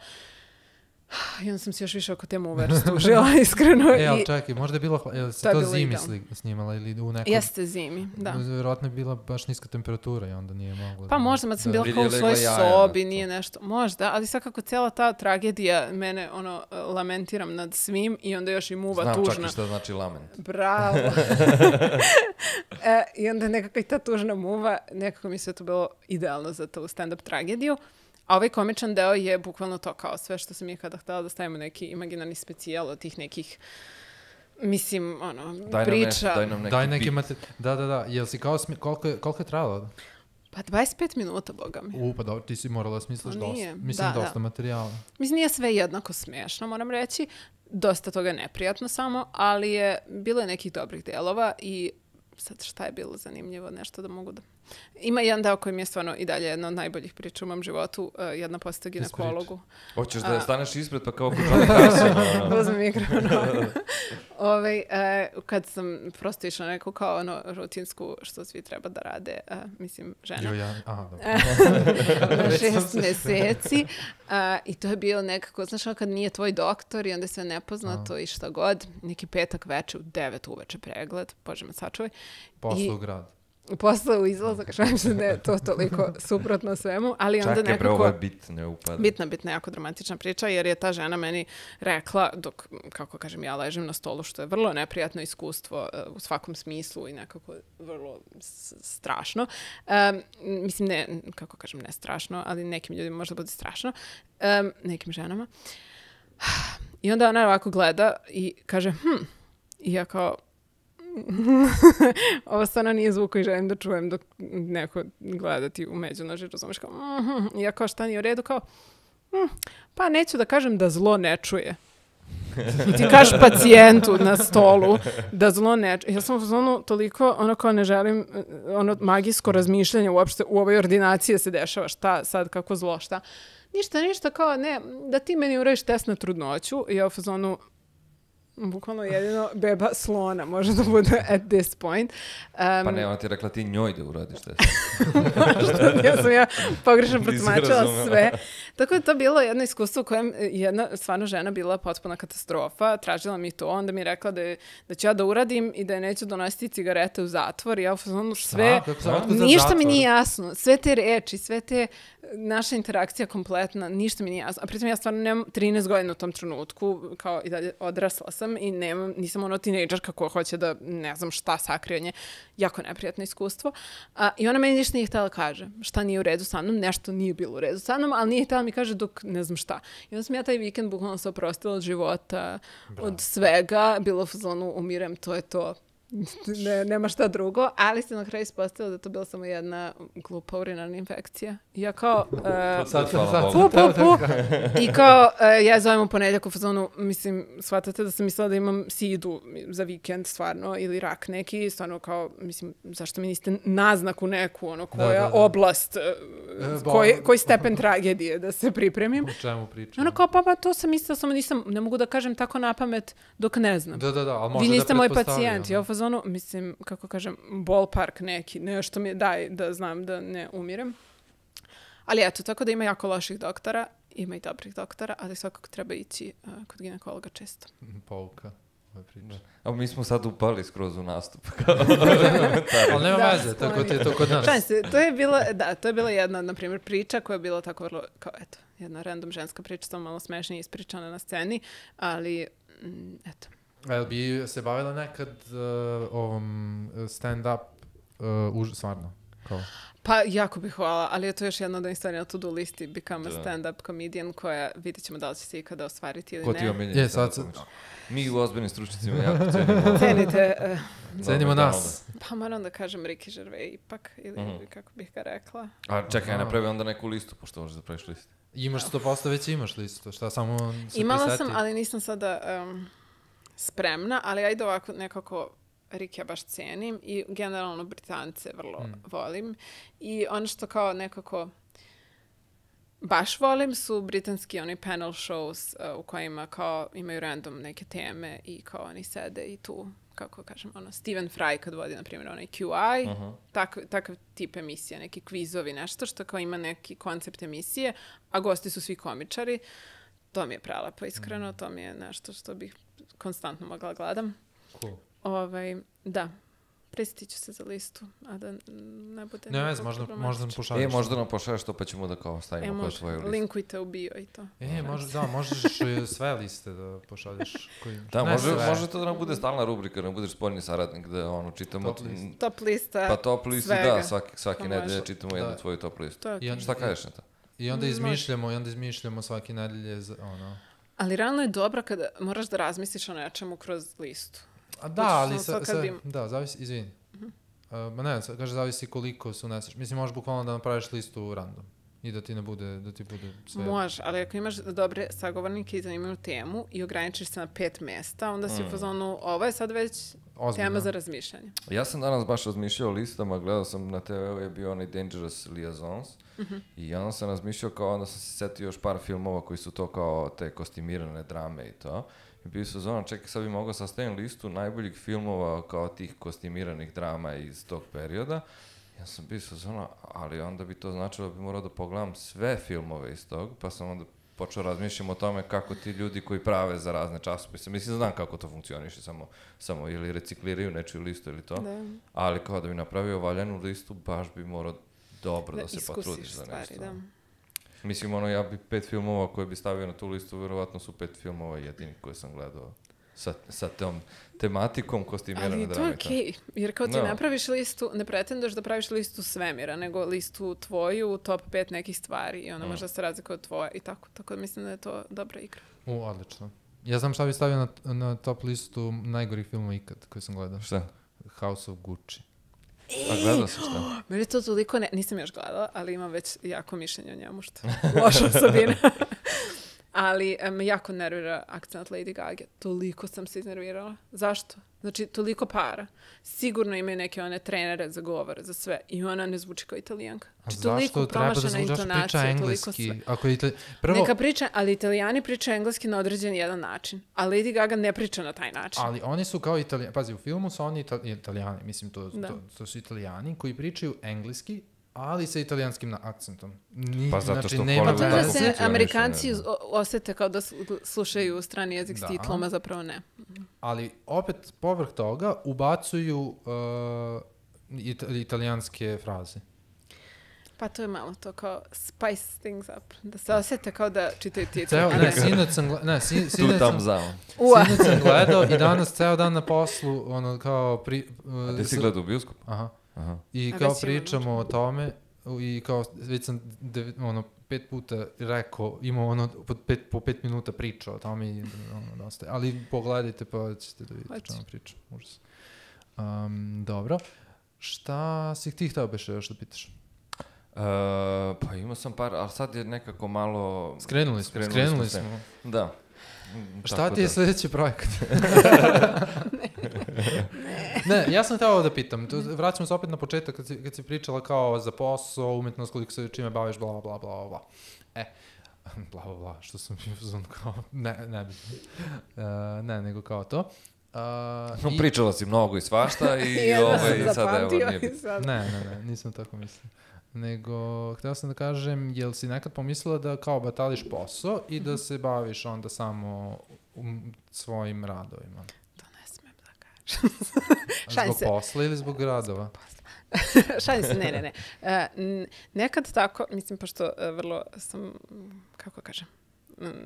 I onda sam se još više oko te muve rastužila, iskreno. E, ali čekaj, možda je bilo, je se to, to zimi sli, snimala ili u nekom... Jeste zimi, da. Vjerojatno je bila baš niska temperatura i onda nije mogla... Pa možda, mada sam bila kao u svojoj sobi, nije nešto, možda, ali svakako cijela ta tragedija, mene, ono, lamentiram nad svim i onda još i muva Znam tužna. Znam čak i šta znači lament. Bravo. e, I onda nekako i ta tužna muva, nekako mi se to bilo idealno za tu stand-up tragediju. A ovaj komičan deo je bukvalno to kao sve što sam je kada htjela da stavimo neki imaginarni specijal od tih nekih, mislim, ono, daj priča. Nešto, daj nam neki daj neki mate... Da, da, da. Jel si kao, smi... koliko, je, koliko je trajalo? Pa dvadeset pet minuta, boga mi. U, pa dobro, ti si morala smisliš no, dosta. Mislim, da, dosta da. materijala. Mislim, nije sve jednako smiješno, moram reći. Dosta toga je neprijatno samo, ali je bilo je nekih dobrih delova i sad šta je bilo zanimljivo, nešto da mogu da... Ima jedan deo koji mi je stvarno i dalje jedna od najboljih priča u mom životu, uh, jedna posjeta ginekologu. Hoćeš da staneš ispred pa kao kućan kasio? Uzmem mikrofon. Ovaj, uh, kad sam prosto išla neku kao ono rutinsku što svi treba da rade, uh, mislim, žena. Jo, ja, aha, dobro. Na šest meseci. Uh, I to je bilo nekako, znaš, kad nije tvoj doktor i onda je sve nepoznato aha. I šta god. Neki petak veče u devet uveče pregled, Bože me sačuvaj. Posle u grad. Posle u izlazak, šalim se da je to toliko suprotno svemu, ali onda nekako... Čakaj, ovo je bitno upada. Bitna, bitna, jako dramatična priča, jer je ta žena meni rekla, dok, kako kažem, ja ležem na stolu, što je vrlo neprijatno iskustvo uh, u svakom smislu i nekako vrlo strašno. Um, mislim, ne, kako kažem, ne strašno, ali nekim ljudima možda bude strašno, um, nekim ženama. I onda ona ovako gleda i kaže, hm, i ja kao, ovo stvarno nije zvuk koji želim da čujem dok neko gleda ti u međunoži, razumiješ kao, mm-hmm. I ja kao šta nije u redu, kao, mm, pa neću da kažem da zlo ne čuje. I ti kažeš pacijentu na stolu da zlo ne čuje. Ja sam ono toliko, ono kao ne želim, ono magijsko razmišljanje uopšte u ovoj ordinaciji se dešava, šta sad, kako zlo, šta. Ništa, ništa, kao ne, da ti meni uradiš test na trudnoću i ja u fazonu, bukvalno jedino beba slona može da bude at this point. Um, pa ne, ona ti je rekla ti njoj da uradiš test. Možda, ja sam ja pogrešno protumačila sve. Tako je to bilo jedno iskustvo u kojem jedna stvarno žena bila potpuna katastrofa. Tražila mi to, onda mi je rekla da, je, da ću ja da uradim i da je neću donositi cigarete u zatvor. I ja u fazonu sve, A, ništa mi nije jasno. Sve te reči, sve te naša interakcija kompletna, ništa mi nije jasno. A pritom ja stvarno nemam trinaest godina u tom trenutku, kao i dalje odrasla sam i nemam, nisam ono tinejdžerka koja hoće da ne znam šta sakrije nje. Jako neprijatno iskustvo. A, I ona meni ništa nije htjela kaže. Šta nije u redu sa mnom, nešto nije bilo u redu sa mnom, ali nije htjela mi kaže dok ne znam šta. I onda sam ja taj vikend bukvalno se oprostila od života, Bravo. Od svega, bilo u fazonu umirem, to je to. Ne, nema šta drugo, ali se na kraju ispostavilo da to bila samo jedna glupa urinarna infekcija. I ja kao... Uh, sad, sad, sad, pu, pu, pu. I kao, uh, ja zovem u ponedjeljak u fazonu, mislim, shvatate da sam mislila da imam sidu za vikend, stvarno, ili rak neki, stvarno kao, mislim, zašto mi niste naznaku neku, ono, koja da, da, da. oblast, uh, koji, koji stepen tragedije da se pripremim. U čemu pričam? Ono kao, pa, pa, to sam mislila, samo nisam, ne mogu da kažem tako na pamet dok ne znam. Da, da, da, ali može vi niste da moj pacijent, ja u fazonu, mislim, kako kažem, ballpark neki, nešto mi daj da znam da ne umirem. Ali eto, tako da ima jako loših doktora, ima i dobrih doktora, ali svakako treba ići uh, kod ginekologa često. Pouka. A mi smo sad upali skroz u nastup. Ali nema da, veze, tako ti je to kod nas. Se, to je bila, da, to je bila jedna, na primjer, priča koja je bila tako vrlo, kao eto, jedna random ženska priča, samo malo smešnije ispričana na sceni, ali, mm, eto. Jel bi se bavila nekad uh, ovom stand-up, uh, už, stvarno? Kao? Pa, jako bih hvala, ali je to još jedna od onih stvari na to-do listi, become a stand-up comedian, koja vidjet ćemo da li će se ikada ostvariti ili Ko ne. Ko ti omiljeni je, sad, sad. Mi u ozbiljnim stručnicima jako cenimo. Cenite. Uh, Cenimo nas. Pa moram da kažem Ricky Gervais ipak, ili mm-hmm. kako bih ga rekla. A čekaj, ja napravi onda neku listu, pošto možeš da praviš listu. Imaš sto posto već imaš listu, šta samo se Imala priseti? sam, ali nisam sada um, spremna, ali ajde ovako nekako Ricky ja baš cenim i generalno Britance vrlo mm. volim. I ono što kao nekako baš volim su britanski oni panel shows uh, u kojima kao imaju random neke teme i kao oni sede i tu, kako kažem, ono, Stephen Fry kad vodi, na primjer, onaj Q I, uh-huh. tak, takav tip emisije, neki kvizovi, nešto što kao ima neki koncept emisije, a gosti su svi komičari. to mi je prelepo, iskreno, to mi je nešto što bih konstantno mogla gledam. Cool. Ovaj, da, prisjetit ću se za listu, a da ne bude ne vez, možda, možda nam pošalješ. E, možda nam pošalješ to pa ćemo da kao stavimo e, kao svoju listu. Linkujte u bio i to. E, može, da, možeš sve liste da pošalješ. Koji... Da, može, može to da nam bude stalna rubrika, da nam budeš spoljni saradnik, da ono, čitamo... Top list. Top lista Pa top listi, da, svaki, svaki nedelje čitamo da. jednu tvoju top listu. Okay. Šta kažeš na to? I onda izmišljamo, i onda izmišljamo svaki nedelje, ono... Ali realno je dobro kada moraš da razmisliš o nečemu kroz listu. A da, ali sa, sa, bi... da, zavisi, izvini. Uh-huh. Uh, ma ne, kaže, zavisi koliko se uneseš. Mislim, možeš bukvalno da napraviš listu random i da ti ne bude, da ti bude sve... Može, ali ako imaš dobre sagovornike i zanimljivu temu i ograničiš se na pet mesta, onda si mm. u fazonu, ovo je sad već ozbiljno. Tema za razmišljanje. Ja sam danas baš razmišljao o listama, gledao sam na te veu je bio onaj Dangerous Liaisons mm-hmm. i onda sam razmišljao kao, onda sam se setio još par filmova koji su to kao te kostimirane drame i to. I bio su zona, čekaj, sad bi mogao sastaviti listu najboljih filmova kao tih kostimiranih drama iz tog perioda. Ja sam bio sa zona, ali onda bi to značilo da bi morao da pogledam sve filmove iz tog, pa sam onda počeo razmišljati o tome kako ti ljudi koji prave za razne časopise, mislim, znam kako to funkcioniše, samo, samo ili recikliraju nečiju listu ili to, da. Ali kao da bi napravio valjanu listu, baš bi morao dobro da, da se potrudiš za nešto. Da. Mislim, ono, ja bi pet filmova koje bi stavio na tu listu, verovatno su pet filmova jedini koje sam gledao sa, sa tom tematikom kostimirane drame. Ali to je okej, okay, jer kao ti no. napraviš listu, ne pretenduješ da praviš listu svemira, nego listu tvoju, top pet nekih stvari i onda mm. možda se razlika od tvoje i tako. Tako da mislim da je to dobra igra. U, odlično. Ja znam šta bi stavio na, na top listu najgorih filmova ikad koje sam gledao. Šta? House of Gucci. E, A gledao sam šta? Meni to toliko, ne, nisam još gledala, ali imam već jako mišljenje o njemu, što loša osobina. Ali me um, jako nervira akcent Lady Gaga. Toliko sam se iznervirala. Zašto? Znači, toliko para. Sigurno imaju neke one trenere za govor, za sve. I ona ne zvuči kao Italijanka. Znači, zašto treba da zvučaš priča engleski? Ako itali... Prvo... Neka priča, ali Italijani pričaju engleski na određen jedan način. A Lady Gaga ne priča na taj način. Ali oni su kao Italijani. Pazi, u filmu su oni itali... Italijani. Mislim, to, to, to su Italijani koji pričaju engleski, ali sa italijanskim akcentom. Ni, pa zato što znači, nema pa to da se Amerikanci ne, osete kao da slušaju strani jezik da. S titlom, a zapravo ne. Ali opet povrh toga ubacuju uh, it, italijanske fraze. Pa to je malo to kao spice things up. Da se osete kao da čitaju titlu. Ne, sinoć sam, gle, ne, sin, sinoć sam, sinoć sam gledao i danas ceo dan na poslu, ono kao... Pri, uh, a gde si gledao u bioskopu? Aha. Aha. I kao pričamo o tome i kao već sam dev, ono, pet puta rekao, imao ono po pet, po pet minuta priča o tome i ono, dosta. Ali pogledajte pa ćete da vidite što vam pričam. Užas. Um, dobro. Šta si ti htio beše još da pitaš? Uh, pa imao sam par, ali sad je nekako malo... Skrenuli smo, skrenuli, skrenuli smo. smo. Da. Šta ti je da. sljedeći projekat? ne. ne, ja sam htio da pitam. Tu, vraćamo se opet na početak kad si, kad si pričala kao za posao, umetnost, koliko se čime baviš, bla, bla, bla, bla. E, bla, bla, bla, što sam bio kao, ne, ne bi. Uh, ne, nego kao to. Uh, no, i... Pričala si mnogo i svašta i ovaj, sad evo nije biti. Ne, ne, ne, nisam tako mislio. Nego, htio sam da kažem, jel si nekad pomislila da kao batališ posao i da se baviš onda samo um, svojim radovima? To ne smem da kažem. Zbog posla ili zbog radova? Šalim se, ne, ne, ne. Uh, nekad tako, mislim, pošto uh, vrlo sam, kako kažem,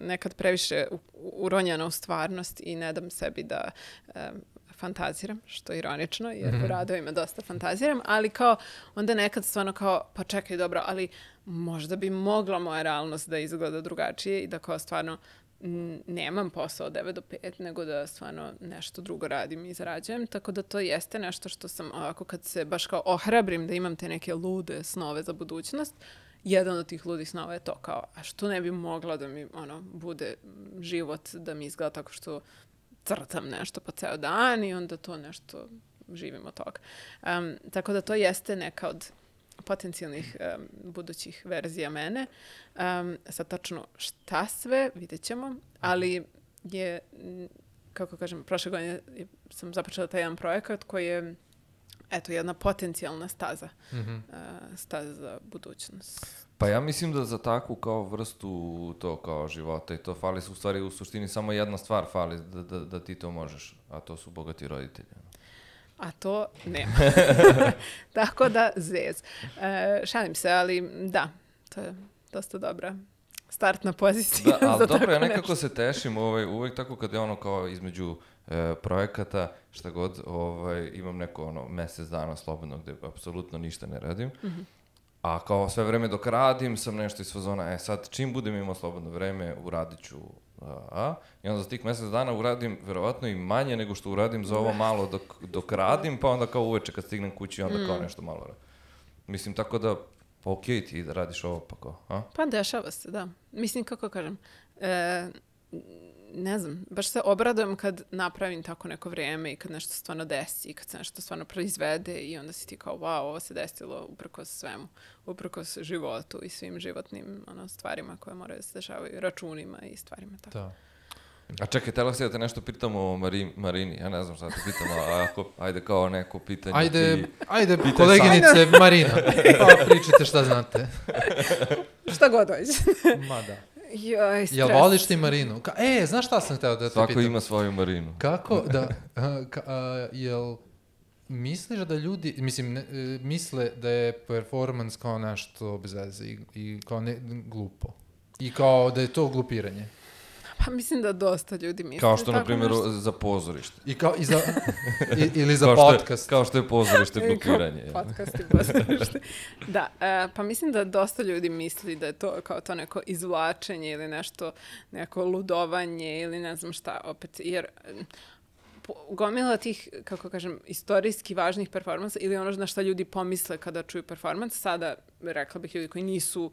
nekad previše uronjena u stvarnost i ne dam sebi da... Um, fantaziram, što je ironično, jer mm-hmm. u radovima dosta fantaziram, ali kao, onda nekad stvarno kao, pa čekaj, dobro, ali možda bi mogla moja realnost da izgleda drugačije i da kao stvarno m, nemam posao od devet do pet, nego da stvarno nešto drugo radim i zarađujem, tako da to jeste nešto što sam ovako kad se baš kao ohrabrim da imam te neke lude snove za budućnost, jedan od tih ludih snova je to kao, a što ne bi mogla da mi ono bude život, da mi izgleda tako što crtam nešto po ceo dan i onda to nešto živim od toga. Um, tako da to jeste neka od potencijalnih um, budućih verzija mene. Um, sad tačno šta sve, vidjet ćemo, ali je, kako kažem, prošle godine sam započela taj jedan projekat koji je eto, jedna potencijalna staza. Mhm. Uh, staza za budućnost. Pa ja mislim da za takvu kao vrstu to kao života i to fali u stvari u suštini samo jedna stvar fali da, da, da ti to možeš, a to su bogati roditelji. A to nema. Tako da, zez. E, šalim se, ali da, to je dosta dobra startna pozicija. Da, ali za dobro, tako ja nekako nešto. se tešim ovaj, uvek tako kad je ono kao između e, projekata, šta god, ovaj, imam neko ono mesec dana slobodno gde apsolutno ništa ne radim. Mm-hmm. A kao sve vreme dok radim sam nešto iz fazona, e sad čim budem imao slobodno vreme, uradit ću a, i onda za tih mesec dana uradim verovatno i manje nego što uradim za ovo malo dok, dok radim, pa onda kao uveče kad stignem kući onda kao nešto malo radim. Mislim, tako da, pa okej ti da radiš ovo, pa kao, a? Pa dešava se, da. Mislim, kako kažem, e, ne znam, baš se obradujem kad napravim tako neko vrijeme i kad nešto stvarno desi i kad se nešto stvarno proizvede i onda si ti kao, wow, ovo se desilo uprkos svemu, uprkos životu i svim životnim ono, stvarima koje moraju da se dešavaju, računima i stvarima tako. Da. A čekaj, telo se da te nešto pitamo o Mari, Marini, ja ne znam šta te pitamo, a ako, ajde kao neko pitanje Ajde, ti... ajde koleginice Marina, pa pričajte šta znate. Šta god dođe. Ma da. Joj, stres. Jel voliš ti Marinu? Ka, e, znaš šta sam hteo da te Svako pitam? ima svoju Marinu. Kako da, a, ka, a, jel misliš da ljudi, mislim, ne, e, misle da je performans kao nešto bez veze i, i kao ne, glupo? I kao da je to glupiranje? Pa mislim da dosta ljudi misle. Kao što, na tako primjer, nešto. za pozorište. I kao i za, i, ili za kao što je- podcast. Kao što je pozorište glupiranje. Kao podcast i pozorište. Da, e, pa mislim da dosta ljudi misli da je to kao to neko izvlačenje ili nešto, neko ludovanje ili ne znam šta opet, jer e, po- gomila tih, kako kažem, istorijski važnih performansa ili ono na šta ljudi pomisle kada čuju performans, sada rekla bih ljudi koji nisu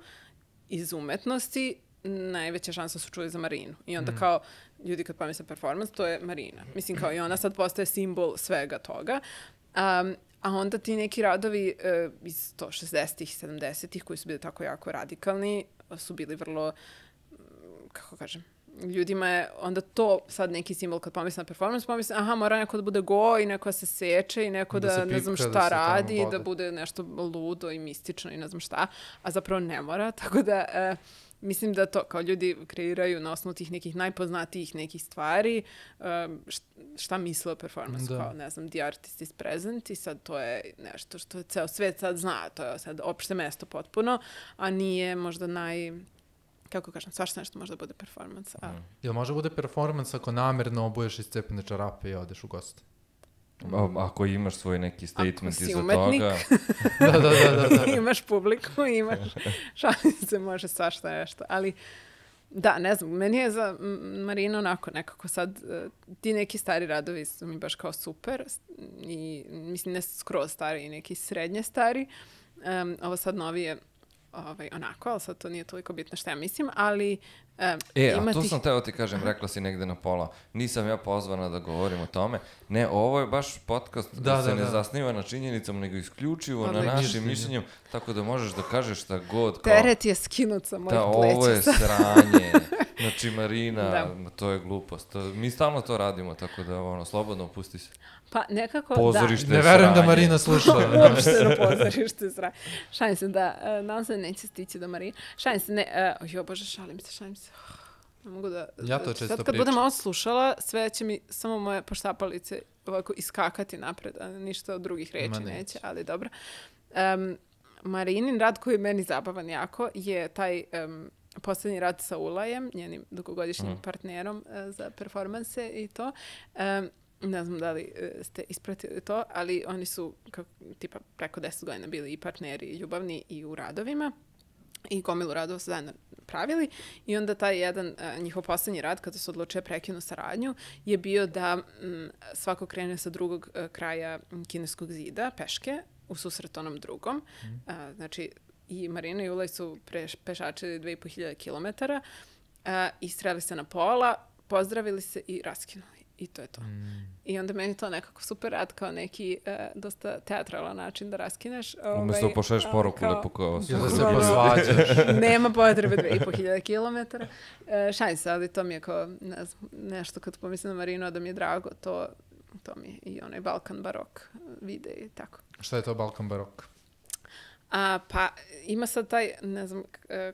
iz umetnosti, najveća šansa su čuli za Marinu. I onda kao ljudi kad pomisle performans, to je Marina. Mislim kao i ona sad postaje simbol svega toga. Um, a onda ti neki radovi uh, iz to šezdesetih i sedamdesetih koji su bili tako jako radikalni, su bili vrlo, mm, kako kažem, ljudima je onda to sad neki simbol kad pomisle na performans, pomisle, aha, mora neko da bude go i neko da se seče i neko Da da, se ne znam pipka, šta da se tamo radi, bode. da bude nešto ludo i mistično i ne znam šta, a zapravo ne mora, tako da e, mislim da to kao ljudi kreiraju na osnovu tih nekih najpoznatijih nekih stvari, e, št- šta misle o performansu, Da. kao ne znam, the artist is present i sad to je nešto što ceo svet sad zna, to je sad opšte mesto potpuno, a nije možda naj... Kako kažem, svašta nešto može da bude performans. A... Jel može bude performans ako namerno obuješ iz cepene čarape i odeš u goste? A- Ako imaš svoj neki statement si iza umetnik. toga. Da, da, da, da. da. Imaš publiku, imaš, šalim se, može svašta nešto, ali da, ne znam, meni je za M- Marinu onako nekako sad, eh, ti neki stari radovi su mi baš kao super s- i mislim ne skroz stari i neki srednje stari, Em, ovo sad novi je ovaj, onako, ali sad to nije toliko bitno šta ja mislim, ali em, E, a ima to tih... sam teo ti kažem, rekla si negde na pola. Nisam ja pozvana da govorim o tome. Ne, ovo je baš podcast da, Da, se da, ne da. zasniva na činjenicama, nego isključivo Pa na da, našim mišljenju. mišljenjem, tako da možeš da kažeš šta god. Kao, Teret je skinut sa mojih da, pleća. ovo je sad. sranje. Znači, Marina, Da. ma, to je glupost. To, mi stalno to radimo, tako da, ono, slobodno opusti se. Pa nekako Pozorište. Ne verujem da sranje. Marina sluša. da. Uopšteno pozorište sra. Šalim se da, uh, nadam se da neće stići do Marije. Šalim se, ne, uh, jo bože, šalim se, šalim se. Ne mogu da... Ja to često Sad kad pričam. budem ovo slušala, sve će mi samo moje poštapalice ovako iskakati napred, a ništa od drugih reči Ma neće. neće. ali dobro. Um, Marinin rad koji je meni zabavan jako je taj um, posljednji rad sa Ulajem, njenim dugogodišnjim Mhm. partnerom uh, za performanse i to. Um, ne znam da li uh, ste ispratili to, ali oni su kako, tipa preko deset godina bili i partneri ljubavni i u radovima i gomilu radova su zajedno pravili i onda taj jedan uh, njihov posljednji rad kada su odlučili prekinu saradnju je bio da mm, svako krene sa drugog uh, kraja mm, kineskog zida, peške, u susret onom drugom. Uh, znači i Marina i Ulaj su preš, pešačili dve i po hiljade kilometara uh, i sreli se na pola, pozdravili se i raskinuli. I to je to. Mm. I onda meni to nekako super rad kao neki uh, dosta teatralan način da raskineš. Umjesto ovaj, pošalješ a, poruku kao- lepo kao Ili da se Bukvalno. posvađaš. Nema potrebe dve i po hiljade kilometara. E, šalim se, ali to mi je kao ne znam, nešto kad pomislim na Marinu, da mi je drago, to to mi je i onaj Balkan barok vide i tako. Šta je to Balkan barok? A, pa ima sad taj, ne znam, k-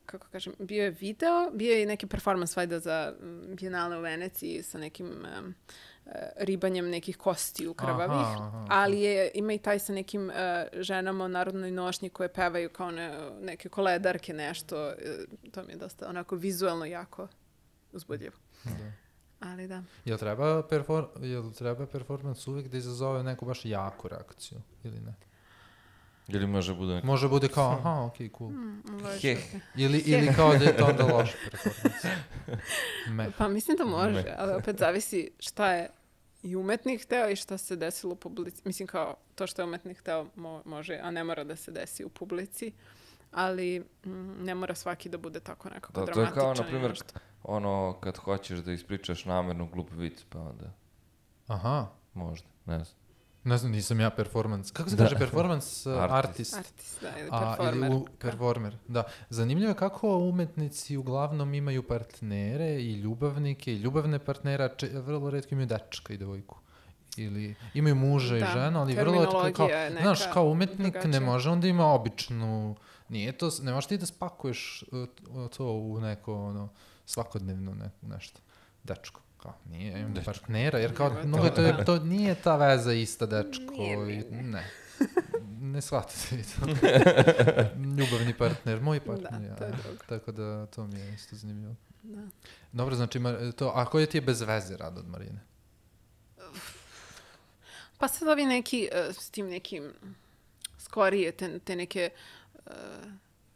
kako kažem, bio je video, bio je i neki performans vajda za Bijenale u Veneciji sa nekim um, ribanjem nekih kostiju krvavih, Aha, aha. ali je, ima i taj sa nekim uh, ženama u narodnoj nošnji koje pevaju kao ne, neke koledarke, nešto. Uh, to mi je dosta onako vizualno jako uzbudljivo. Da. Ali da. Jel treba, perfor, jel treba performans uvijek da izazove neku baš jaku reakciju ili ne? Ili može bude... Može bude kao, aha, okej, cool. Mm, Heh. Ili, ili kao da je to onda loš performans. Me. Pa mislim da može, Ne. ali opet zavisi šta je i umetnik hteo i šta se desilo u publici. Mislim kao to što je umetnik hteo mo- može, a ne mora da se desi u publici. Ali mm, ne mora svaki da bude tako nekako Da, to je dramatičan. kao, na i primjer, nešto. ono kad hoćeš da ispričaš namerno glup vic, pa onda Aha. možda, ne znam. Ne znam, nisam ja performans. Kako se Da. kaže performans? uh, Artist. Artist. Artist, da, ili A, performer. ili u, performer, da. Zanimljivo je kako umetnici uglavnom imaju partnere i ljubavnike i ljubavne partnera, če, vrlo retko imaju dečka i devojku. Ili imaju muža i Da, ženu, ali vrlo retko kao, terminologija je neka znaš, kao umetnik ne drugačija. može onda ima običnu, nije to, ne možeš ti da spakuješ uh, to u neko ono, svakodnevno ne, nešto, dečko. Kao, nije, ja imam Dečko. partnera, jer kao, Nego je mnogo je to- to, jer to nije ta veza ista dečko. Nije, nije, i- nije. ne. Ne shvatite vi to. Ljubavni partner, moj partner. Da, ja. to je drugo. Tako da to mi je isto zanimljivo. Da. Dobro, znači, Mar- to, a koji ti je bez veze rad od Marine? Pa sad ovi neki, uh, s tim nekim skorije, te, te neke uh,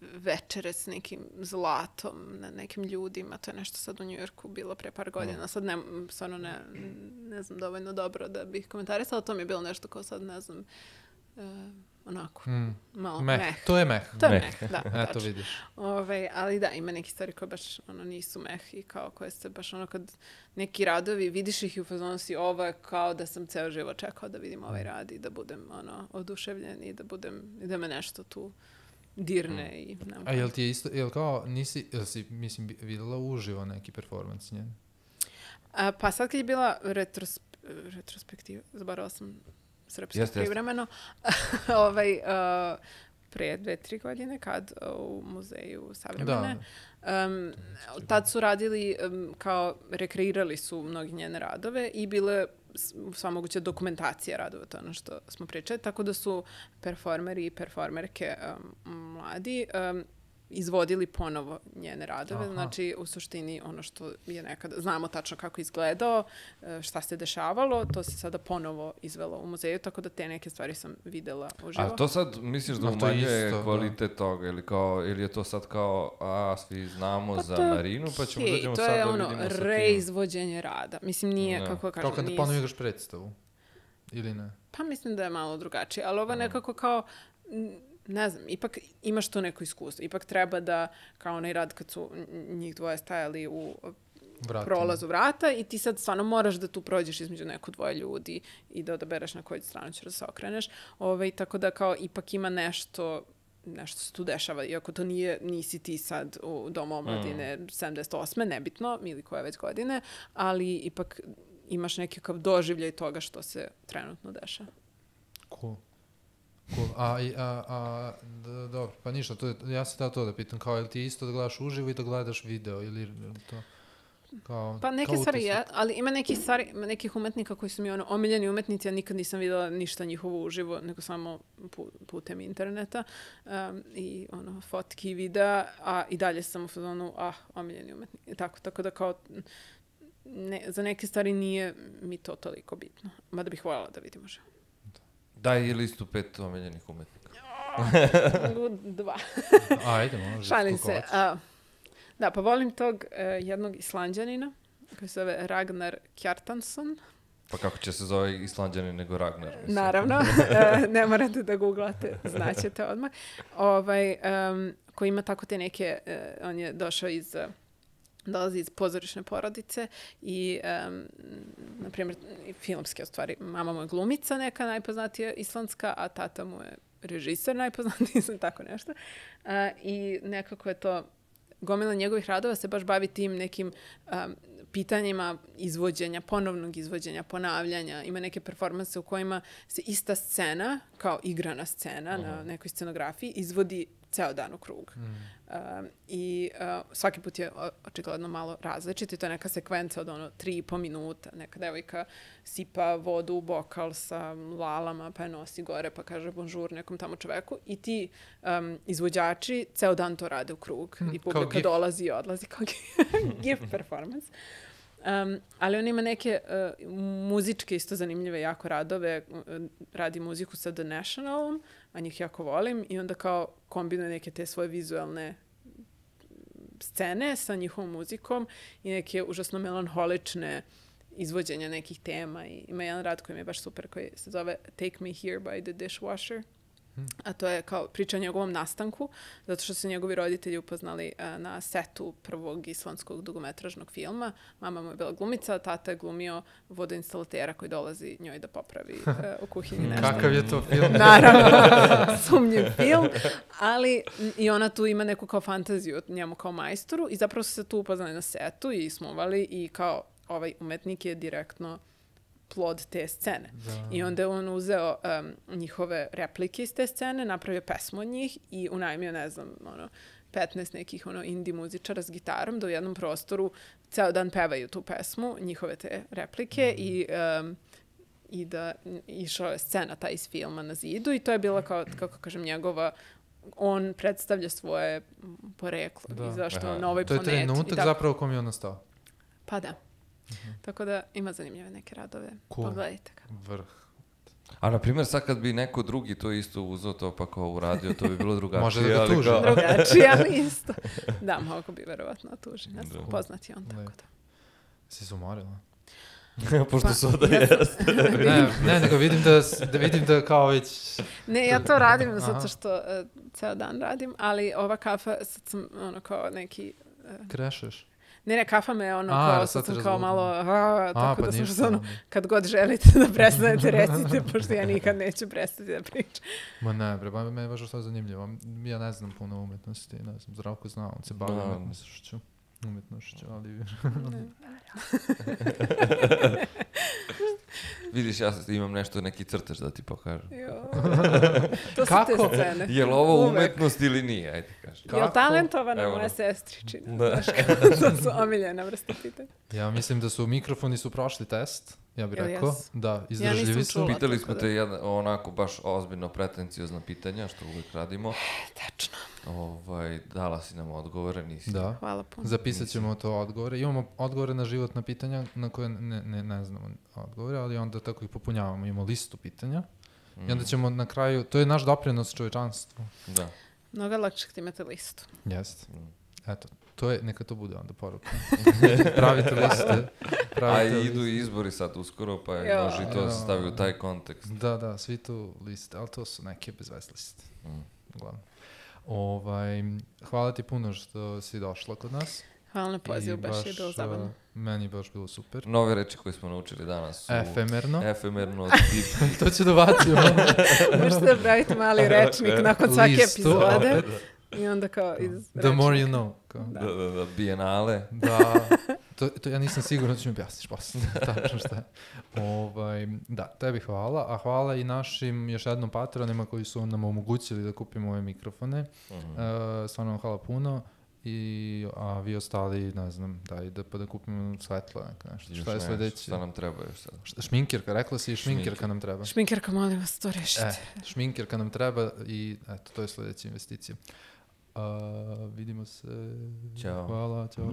večere s nekim zlatom na nekim ljudima, to je nešto sad u Njujorku bilo pre par godina, sad ne, stvarno ne, ne znam dovoljno dobro da bih komentarisala, to mi je bilo nešto kao sad, ne znam, uh, onako, Mm. malo Meh. meh. To je meh. To je Meh. meh, da, Eto, tačno. vidiš. Ove, ali da, ima neki stvari koje baš ono, nisu meh i kao koje se baš ono kad neki radovi, vidiš ih i u fazonu si ovo je kao da sam ceo život čekao da vidim ovaj rad i da budem ono, oduševljen i da budem, i da me nešto tu dirne i nemam A jel ti je isto, jel kao, nisi, jel si, mislim, bi- videla uživo neki performans njen? A, pa sad kad je bila retros, retrospektiva, zaboravila sam srpsko Jeste, jeste. privremeno, ovaj, uh, pre dve, tri godine kad uh, u muzeju savremene, um, tad su radili, um, kao rekreirali su mnogi njene radove i bile s- sva moguća dokumentacija radova, to je ono što smo pričali, tako da su performeri i performerke um, mladi um, izvodili ponovo njene radove, Aha. znači u suštini ono što je nekada, znamo tačno kako je izgledao, e, šta se dešavalo, to se sada ponovo izvelo u muzeju, tako da te neke stvari sam videla uživo. A to sad misliš da Ma to je umanjuje isto, da. kvalitet toga ili kao, ili je to sad kao, a svi znamo Pa za to je Marinu, pa ćemo okej, dođemo to sad je da ono vidimo sa tim. reizvođenje rada. Mislim, nije, Da. kako da kažem, Kao kad nije- ponovo igraš predstavu? Ili ne? Pa mislim da je malo drugačije, ali ovo je nekako kao, n- ne znam, ipak imaš to neko iskustvo. Ipak treba da, kao onaj rad kad su n- njih dvoje stajali u Vratima. prolazu vrata i ti sad stvarno moraš da tu prođeš između neko dvoje ljudi i da odabereš na koju stranu ćeš da se okreneš. Ovaj, tako da kao ipak ima nešto nešto se tu dešava, iako to nije, nisi ti sad u Domu omladine sedamdeset osme nebitno, ili koje već godine, ali ipak imaš neki kao doživljaj toga što se trenutno dešava. Cool. Cool. A, i- a, a d- dobro, pa ništa, to je, ja se da to da pitam, kao, je li ti isto da gledaš uživo i da gledaš video, ili je li to, kao, Pa neke kao stvari utisak? je, ali ima nekih stvari, ima nekih umetnika koji su mi ono omiljeni umetnici, ja nikad nisam videla ništa njihovo uživo, nego samo pu- putem interneta um, i ono fotki i videa, a i dalje sam u fazonu, ah, omiljeni umetnik. I tako, tako da kao ne, za neke stvari nije mi to toliko bitno. Mada bih voljela da vidim uživo. Daj i listu pet omiljenih umetnika. Dva. Ajde, može. Šalim koliko se. hoćeš. A, da, pa volim tog e, jednog Islanđanina koji se zove Ragnar Kjartansson. Pa kako će se zove Islanđanin nego Ragnar? mislim. Naravno, e, ne morate da googlate, znaćete odmah. Ovaj, em, koji ima tako te neke, e, on je došao iz, e, dolazi iz pozorišne porodice i, um, na primjer, filmske, u stvari, mama mu je glumica neka najpoznatija islandska, a tata mu je režiser najpoznatiji, sam tako nešto. E, I nekako je to gomila njegovih radova se baš bavi tim nekim um, pitanjima izvođenja, ponovnog izvođenja, ponavljanja. Ima neke performanse u kojima se ista scena, kao igrana scena uh-huh. na nekoj scenografiji, izvodi ceo dan u krug. Mm. Um, I uh, svaki put je očigledno malo različit i to je neka sekvenca od ono tri i po minuta. Neka devojka sipa vodu u bokal sa lalama, pa je nosi gore, pa kaže bonjour nekom tamo čoveku. I ti um, izvođači ceo dan to rade u krug. Mm, I publika dolazi i odlazi kao gif performance. Um, ali on ima neke uh, muzičke isto zanimljive jako radove. Uh, radi muziku sa The Nationalom, a njih jako volim i onda kao kombinuje neke te svoje vizualne scene sa njihovom muzikom i neke užasno melanholične izvođenja nekih tema. I ima jedan rad koji mi je baš super koji se zove Take Me Here by the Dishwasher. A to je kao priča o njegovom nastanku, zato što su njegovi roditelji upoznali uh, na setu prvog islandskog dugometražnog filma. Mama mu je bila glumica, tata je glumio vodoinstalatera koji dolazi njoj da popravi uh, u kuhinji nešto. Kakav je to film? Naravno, sumnjiv film, ali i ona tu ima neku kao fantaziju o njemu kao majstoru i zapravo su se tu upoznali na setu i smovali i kao ovaj umetnik je direktno plod te scene. Da. I onda je on uzeo um, njihove replike iz te scene, napravio pesmu od njih i unajmio, ne znam, ono, petnaest nekih ono, indie muzičara s gitarom da u jednom prostoru ceo dan pevaju tu pesmu, njihove te replike mm. i, um, i da išao je scena ta iz filma na zidu i to je bila kao, kako kažem, njegova on predstavlja svoje poreklo da. I zašto Aha. na ovoj planeti. To je planeti. trenutak zapravo u kom je on nastao. Pa da. Uh-huh. Tako da ima zanimljive neke radove. Cool. Pogledajte ga. Vrh. A na primjer sad kad bi neko drugi to isto uzeo to pa kao uradio, to bi bilo drugačije. Može da ga tuži. Kao... drugačije, ali isto. Da, mogu bi verovatno tuži. Ne znam, poznat je on, tako da. Si se umorila? Pošto pa, su da ja jeste. ne, ne, nego vidim da, da vidim da kao već... Ne, ja to radim zato što uh, ceo dan radim, ali ova kafa, sad sam ono kao neki... Uh, Krešeš? Ne, ne, kafa me ono, a, kao, sad sam kao malo, a, tako a, pa da sam što ono, kad god želite da prestanete, recite, pošto ja nikad neću prestati da pričam. Ma ne, bre, me je baš što zanimljivo. Ja ne znam puno umetnosti, ne znam, Zdravko zna, on se bavi umetnošću, umetnošću, ali... Vidiš, ja imam nešto, neki crtež da ti pokažem. Jo, to su te scene. Je li ovo umetnost ili nije? Ajde, kaži. Je li talentovana moja sestričina? Da. To su omiljena vrsta pitanja. Ja mislim da su mikrofoni su prošli test, ja bih rekao. Yes. Da, izdržljivi ja su. Pitali smo te jedna, onako baš ozbiljno pretencijozna pitanja, što uvijek radimo. Tačno. Ovaj, dala si nam odgovore, nisi. Da. Hvala puno. Zapisat ćemo to odgovore. Imamo odgovore na životna pitanja na koje ne, ne, ne znamo odgovore, ali onda tako ih popunjavamo. Imamo listu pitanja mm. i onda ćemo na kraju, to je naš doprinos čovječanstvu. Da. Mnogo lakše kad imate listu. Jeste. Mm. Eto, to je, neka to bude onda poruka. Pravite liste. Pravite A liste. idu izbori sad uskoro, pa je može i to se stavi u taj kontekst. Da, da, svi tu liste, ali to su neke bezvez liste. Mm. Uglavnom. Ovaj, hvala ti puno što si došla kod nas. Hvala na pozivu, baš, baš je bilo zabavno. Meni je baš bilo super. Nove reči koje smo naučili danas su... Efemerno. Efemerno. To ću da bacimo. Možete da pravite mali rečnik nakon svake epizode. I onda kao iz The rečnika. More you know. Kao. Da, da, da, bijenale. Da, to, to ja nisam siguran da ću mi objasniš posle. Tačno šta je. Ovaj, da, tebi hvala, a hvala i našim još jednom patronima koji su nam omogućili da kupimo ove mikrofone. Uh-huh. Uh, stvarno vam hvala puno. I, a vi ostali, ne znam, daj da, pa da kupimo svetlo, nešto. Šta je sledeće? Šta nam treba još sad? Šminkirka, rekla si i šminkirka nam treba. Šminkirka, molim vas, to rešite. E, šminkirka nam treba i eto, to je sledeća investicija. Uh, vidimo se. Ćao. Hvala, ćao.